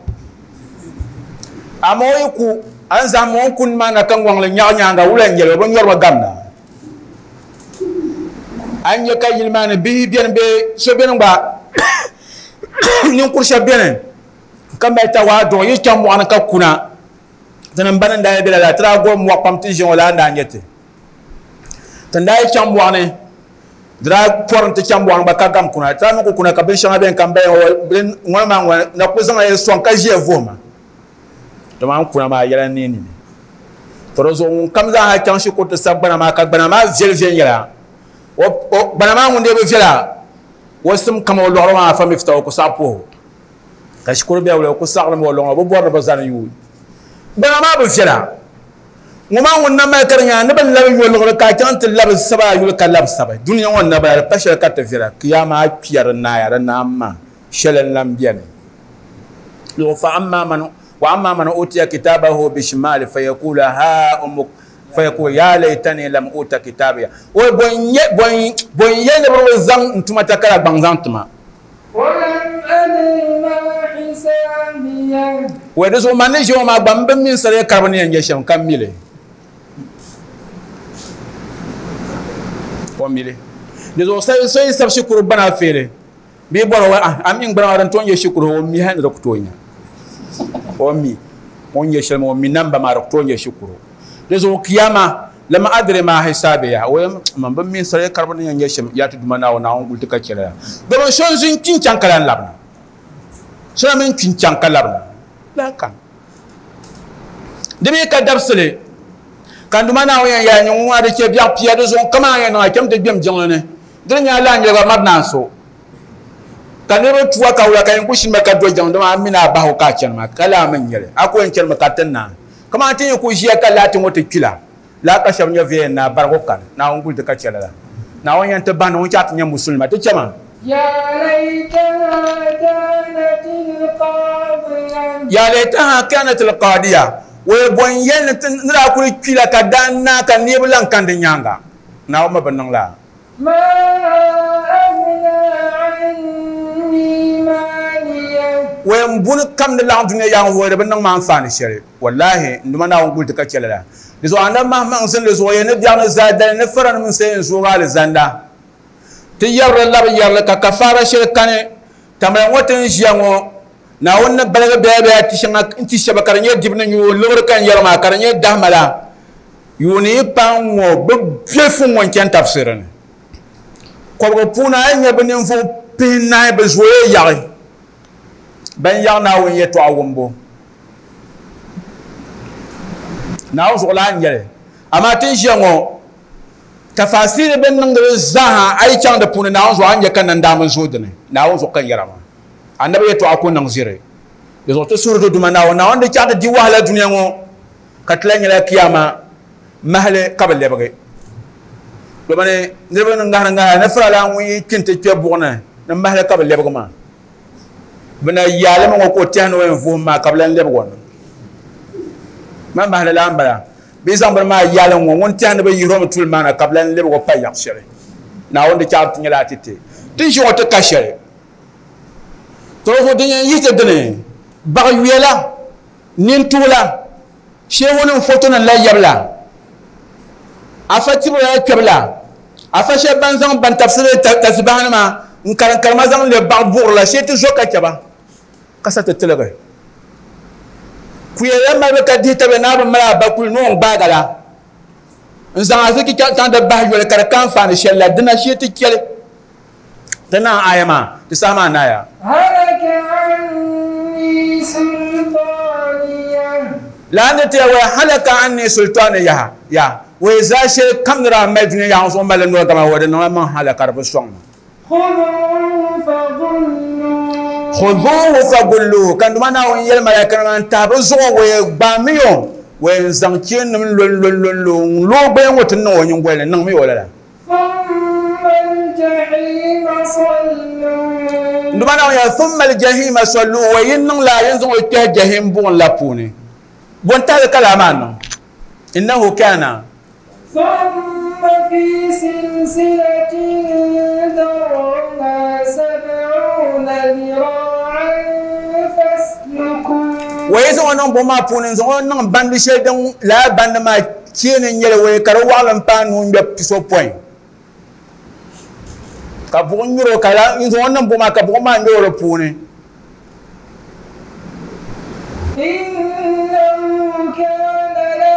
Amaa o yi ku, a ni zahim o ni kuni maa na ka ŋɔŋ li nyaɣi nyaaŋa, wula n-nyɛ li? O bi nyɔri ba gamda. A ni nya ka yili maa ni bihi beni bee so beni gba ninkur shɛba beni ka mali tawaadu yi chaŋ mɔɣu ni ka kuna, ti ni ba ni daa yi be lala, ti daa gom mɔɣu pam ti ʒiya ŋɔ laa n-daa nyɛ ti. Ti ni daa yi chaŋ mɔɣu ni, di daa pɔri nti chaŋ mɔɣu ni gba ka gam kuna. Ti daa mi ku kuna ka binshɛŋa beni ka m ba yɛn ŋɔ maa ŋɔ na ku zaŋla ya sɔŋ ka ʒiya vuhima. Dama n kuna maa yɛla n-neei nini. To di zuɣu ŋunkam zaa ha chaŋ shikuru ti sabi gbana maa ka gbana maa viɛli viɛnyɛla, gbana maa ŋun dee bi viɛla, o sim kama o lɔɣiri maa afa mifta o ku saɣi puhi o. Ka shikuru biɛla o ku saɣirimi o lɔŋɔ, o bi bɔri ni bɛ zani yuui. Gbana maa bi viɛla. Ŋɔ maa ŋun na mali ka di nyɛla ni bɛ labi yo liɣiri ka a chaŋ ti labi saba a yuli ka labi sabi. Dunia ŋɔ n-na bala, di pa shɛli ka ti viɛla. Kiyama a kpiya di naaya, di naam maa shɛli n-lan beni. Luɣ fa amma man wa amma man utiya kitabahu bishimali fayakulu ha umuk fayakulu ya laytani lam uta kitabiya. O bɔ n-nyɛ, bɔ n, bɔ n-yɛli ni bɛ bi zaŋ n tuma takara gbaŋ zaŋ ti ma. Wɛ di zuɣu man ni ʒiya ŋɔ maa gba m bi mi n sariya karibu ni yɛn nyɛ shɛm ka mi li. O mi li. Di zuɣu so yi sabi shikuru gbana feeli, Bee bɔra wa a mi gbana maa din tooi nyɛ shikuru o mi hali ni di ku tooi nya o mi o ni nyɛ shɛli maa o mi namba maa di ku tooi nyɛ shikuru di zuɣu kiyama lam adri ma hisabiya o yɛn man bi mi sariya karibu ni yɛn nyɛ shɛm yaa ti Duuma Naawuni Naawuni guli ti ka chɛ lala domin so n-zi n-kpi n-chaŋ ka lan labina so na mi n-kpi n-chaŋ ka labina laa kam di mi ka dabisili ka n Duuma Naawuni yɛn yɛli ni ŋun a di chɛ biɛɣu pia di zuɣu kaman a yɛn niŋ a cham ti gbem jiŋli ni di ni nyɛ a lahi nyɛ gba mari naan so ka niriba tuwa ka wula ka yɛn ku shini ba ka do jiŋli dama a mi ni a bahi o ka a chani maa ka laa mi n-nyɛ li a ku yɛn chanimi ka ti naai kaman ti yi ku ʒiya ka laati ŋɔ ti kpila laa ka shɛba nyɛ viɛya naa barigu kani Naawuni guli ti ka chɛ lala Naawuni yɛn ti bahi ni ŋun chaɣ ti nyɛ musulima ti chɛ ma. Ya laytaha kanat alqadiya o ye bɔ n-yɛli ni ti ni daa kuli kpila ka daa naai ka neebu lan kani di nyaaŋa Naawuni mi bi niŋ laa. O yɛn buni kam ni laɣim dunia yaŋ o di bi niŋ ma anfaani shɛli. Wallahi, n Duuma Naawuni guli ti ka chɛ lala. Di zuɣu Anabi Mahammaŋ zinli zuɣu yɛn ni biɛɣu ni zaadali ni faranim n-sa yɛn zooi alizanda. Ti yɛrili labi yɛrili ka kafaara shɛli kani. Tamali ŋɔ ti ni ʒiya ŋɔ, Naawuni ni baligi bɛya bɛya ti shɛŋa n-ti shɛba ka di nyɛ dibu ni nyuo liɣiri ka n yɛri maa ka di nyɛ dahima la. Yuuni yi paai ŋ-ŋɔ bɛ biɛlifu ŋ-ŋɔ n-chani tafsiri ni. Kɔbiga puuni a yi nya bɛ ninvuɣ pihinahi bɛ zooya yaɣi ban yaɣi Naawuni yɛtɔɣa wumbu. Naawuni zuɣu laa n-nyɛ li. Amaa ti ni ʒiya ŋɔ, tafasiri bɛ ni niŋdi li zaaha a yi chaŋ di puuni Naawuni zuɣu a ni nya ka nandaamba n-zooi di ni. Naawuni zuɣu ka n yɛra maa. Anabi yɛtɔɣa ku niŋ ziri. Di zuɣu ti suhuri ti Duuma Naawuni. Naawuni di chaɣ ti di wahala dunia ŋɔ ka ti lahi nyɛla kiyama mahali ka bi lɛbigi. Domin niriba ni ŋahiri ŋahira ni faralana ŋun yi kpi nti kpe buɣ ni ni mahali ka bi lɛbigi maa. Bɛ na yaalimi ŋɔ ka o tɛhi ni o yɛn vuhim maa ka bɛ lan lɛbigi o na. Man mahali laa m-bala. Bɛ yi zaŋ bini maa yaali ŋ-ŋɔ, ŋun tɛhi ni bɛ yihir o mi tuli maa na ka bɛ lan lɛbigi o pa yaɣ shɛli. Naawuni di chaɣ ti nyɛla a ti ti. Ti ʒi ŋɔ ti ka shɛli. Tɔ zuɣu din yɛn yihi ti dini, baɣ yuya la, nintuhi la, sheehunim fotonim la yɛbu la, afa tibu la kpɛbu la, afa shɛba ban zaŋ ban tabisiri tasibahanima n-karim karima zaŋ lɛbi baɣ buɣiri la, shee ti zo ka chɛ ba ka sa ti tiligi. Kuya la malibu ka dihi tabili ni a bi mali a bakuli ni o ni gbaagi a la n-zaŋ ariziki chaŋ ti bahi yoli ka di ka anfaani shɛli la, dina shee ti chɛli. Ti naai aya maa, di saha maa naaya. Halaka anni sultaniya. Lala ni ti ya waya halaka anni sultaniya ya waya zaa shɛli kam ni daa mali dunia yaɣa zuɣu mali noli gama wa di niŋla maŋ halaka di bi sɔŋ ma. Khuduhu fagulluhu. Khuduhu fagulluhu ka Duuma Naawuni yɛli malaikanima n-tahi bɛ zuɣu waya gbaamiyo waya n-zaŋ cheennim lɔnlɔnlɔnlɔ n-lo o gbaya ŋɔ ti niŋ o nyingoli ni niŋmi o lala. Duuma Naawuni yɛli, Thumma al-jahima salluhu, wa yi niŋ laa yin zaŋ o kpɛhi jahim buɣim la puuni. Bɔ n-tahili ka laa maa niŋ? Innahu kana. Thumma fi silsilatin zar'uha sab'una zira'an faslukuhu. Wa yi zaŋ o niŋ buɣim maa puuni n-zaŋ o niŋ bandi shɛli din lala bandi maa Cheeni n-nyɛli wei ka di waɣilim paai nuu ŋmɛbu pisopɔin ka buɣim nyuri o ka la n-zaŋ o niŋ buɣim maa ka buɣim maa nyuri o di puuni. Innahu kana la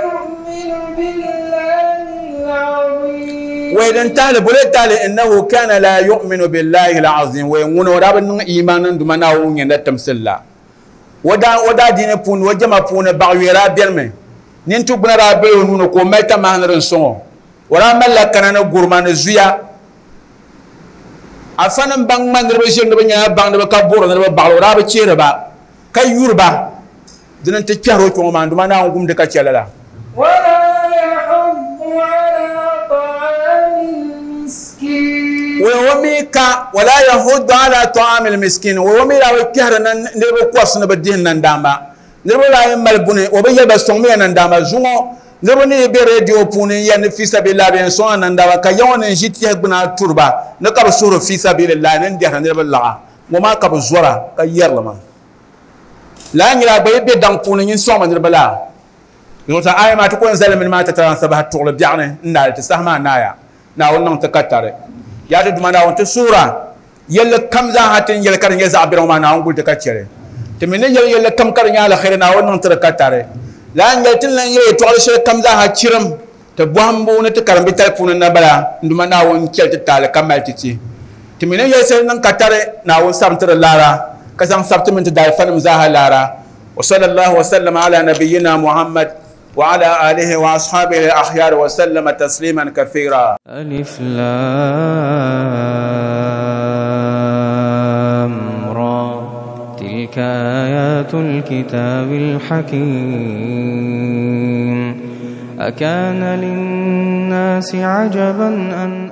yu'minu billahi al-azim. Wei din tahili bole tahili innahu kana la yu'minu billahi al-azim wei ŋuni o daa bi niŋ iimaan ni Duuma Naawuni ŋun nyɛ timsili la. O daa diini puuni o jɛma puuni baɣiyuya daa benimi. Nintugbuna daa bela o nuu ni ka o mali tamaha ni din sɔŋ o. O daa malila kana ni gurima ni zuya. Afanim ban ŋma niriba ʒiri ni bɛ nyɛla baŋdiba ka buɣiri niriba baɣili o daa bi chihiri ba ka yuri ba. Dini n-ti kpɛhiri o kpiɔŋ maa, n Duuma Naawuni gumdi ka chɛ lala. O mi ka, wala yahuddu ala ta'amil miskin, o mi daa bi kpɛhiri niriba kɔrisi ni bɛ dihi nandaamba. Niriba daa yi mali buni, o bi yɛli ba sɔŋmiya nandaamba. Zuŋɔ niriba ni yi be redio puuni n-yɛli ni fi sabilillahi bɛ yɛn sɔŋ a nandaamba, ka ya ŋɔ ni n-ʒi tɛhi gbuni a turi ba ni ka bɛ suhiri fi sabilillahi ni n-dɛhiri niriba laɣa. Ŋɔ maa ka bɛ zɔra ka yɛri li maa. Lala nyɛla a gba yi be daŋ puuni nyin sɔŋmi niriba laa. Zuɣusaa aya maa ti ko n-zali mini maa tatariga n-sabahi tuɣili biɛɣuni n-naali ti saha maa naaya. Naawuni niŋ ti ka tari. Yaa ti Duuma Naawuni, ti suhir a Yɛlli kam zaaha ti ni yɛli ka di nyɛ zaɣ biɛri ŋɔ maa, Naawuni guli ti ka chɛ li. Ti mi ni yɛli yɛlli kam ka di nyɛ aliheri, Naawuni niŋ ti di ka tari. Lala n-yɛli ti ni lan yɛli yɛtɔɣili shɛli kam zaaha chirim ti bɔhimbu ni ti karimbitali puuni na bala, n Duuma Naawuni chɛli ti taali ka mali ti ti. Ti mi ni yɛli shɛli niŋ ka tari, Naawuni sabim ti di laara, ka zaŋ sabi ti mini ti daalifanim zaaha laara. Wa sallallahu wa sallama ala nabiyyina Muhammad wa ala alihi wa ashabihi al-akhyar wa sallama tasliman kathira. Alif Lam Ra Tilka ayatul kitabil hakim أكان للناس عجبا أن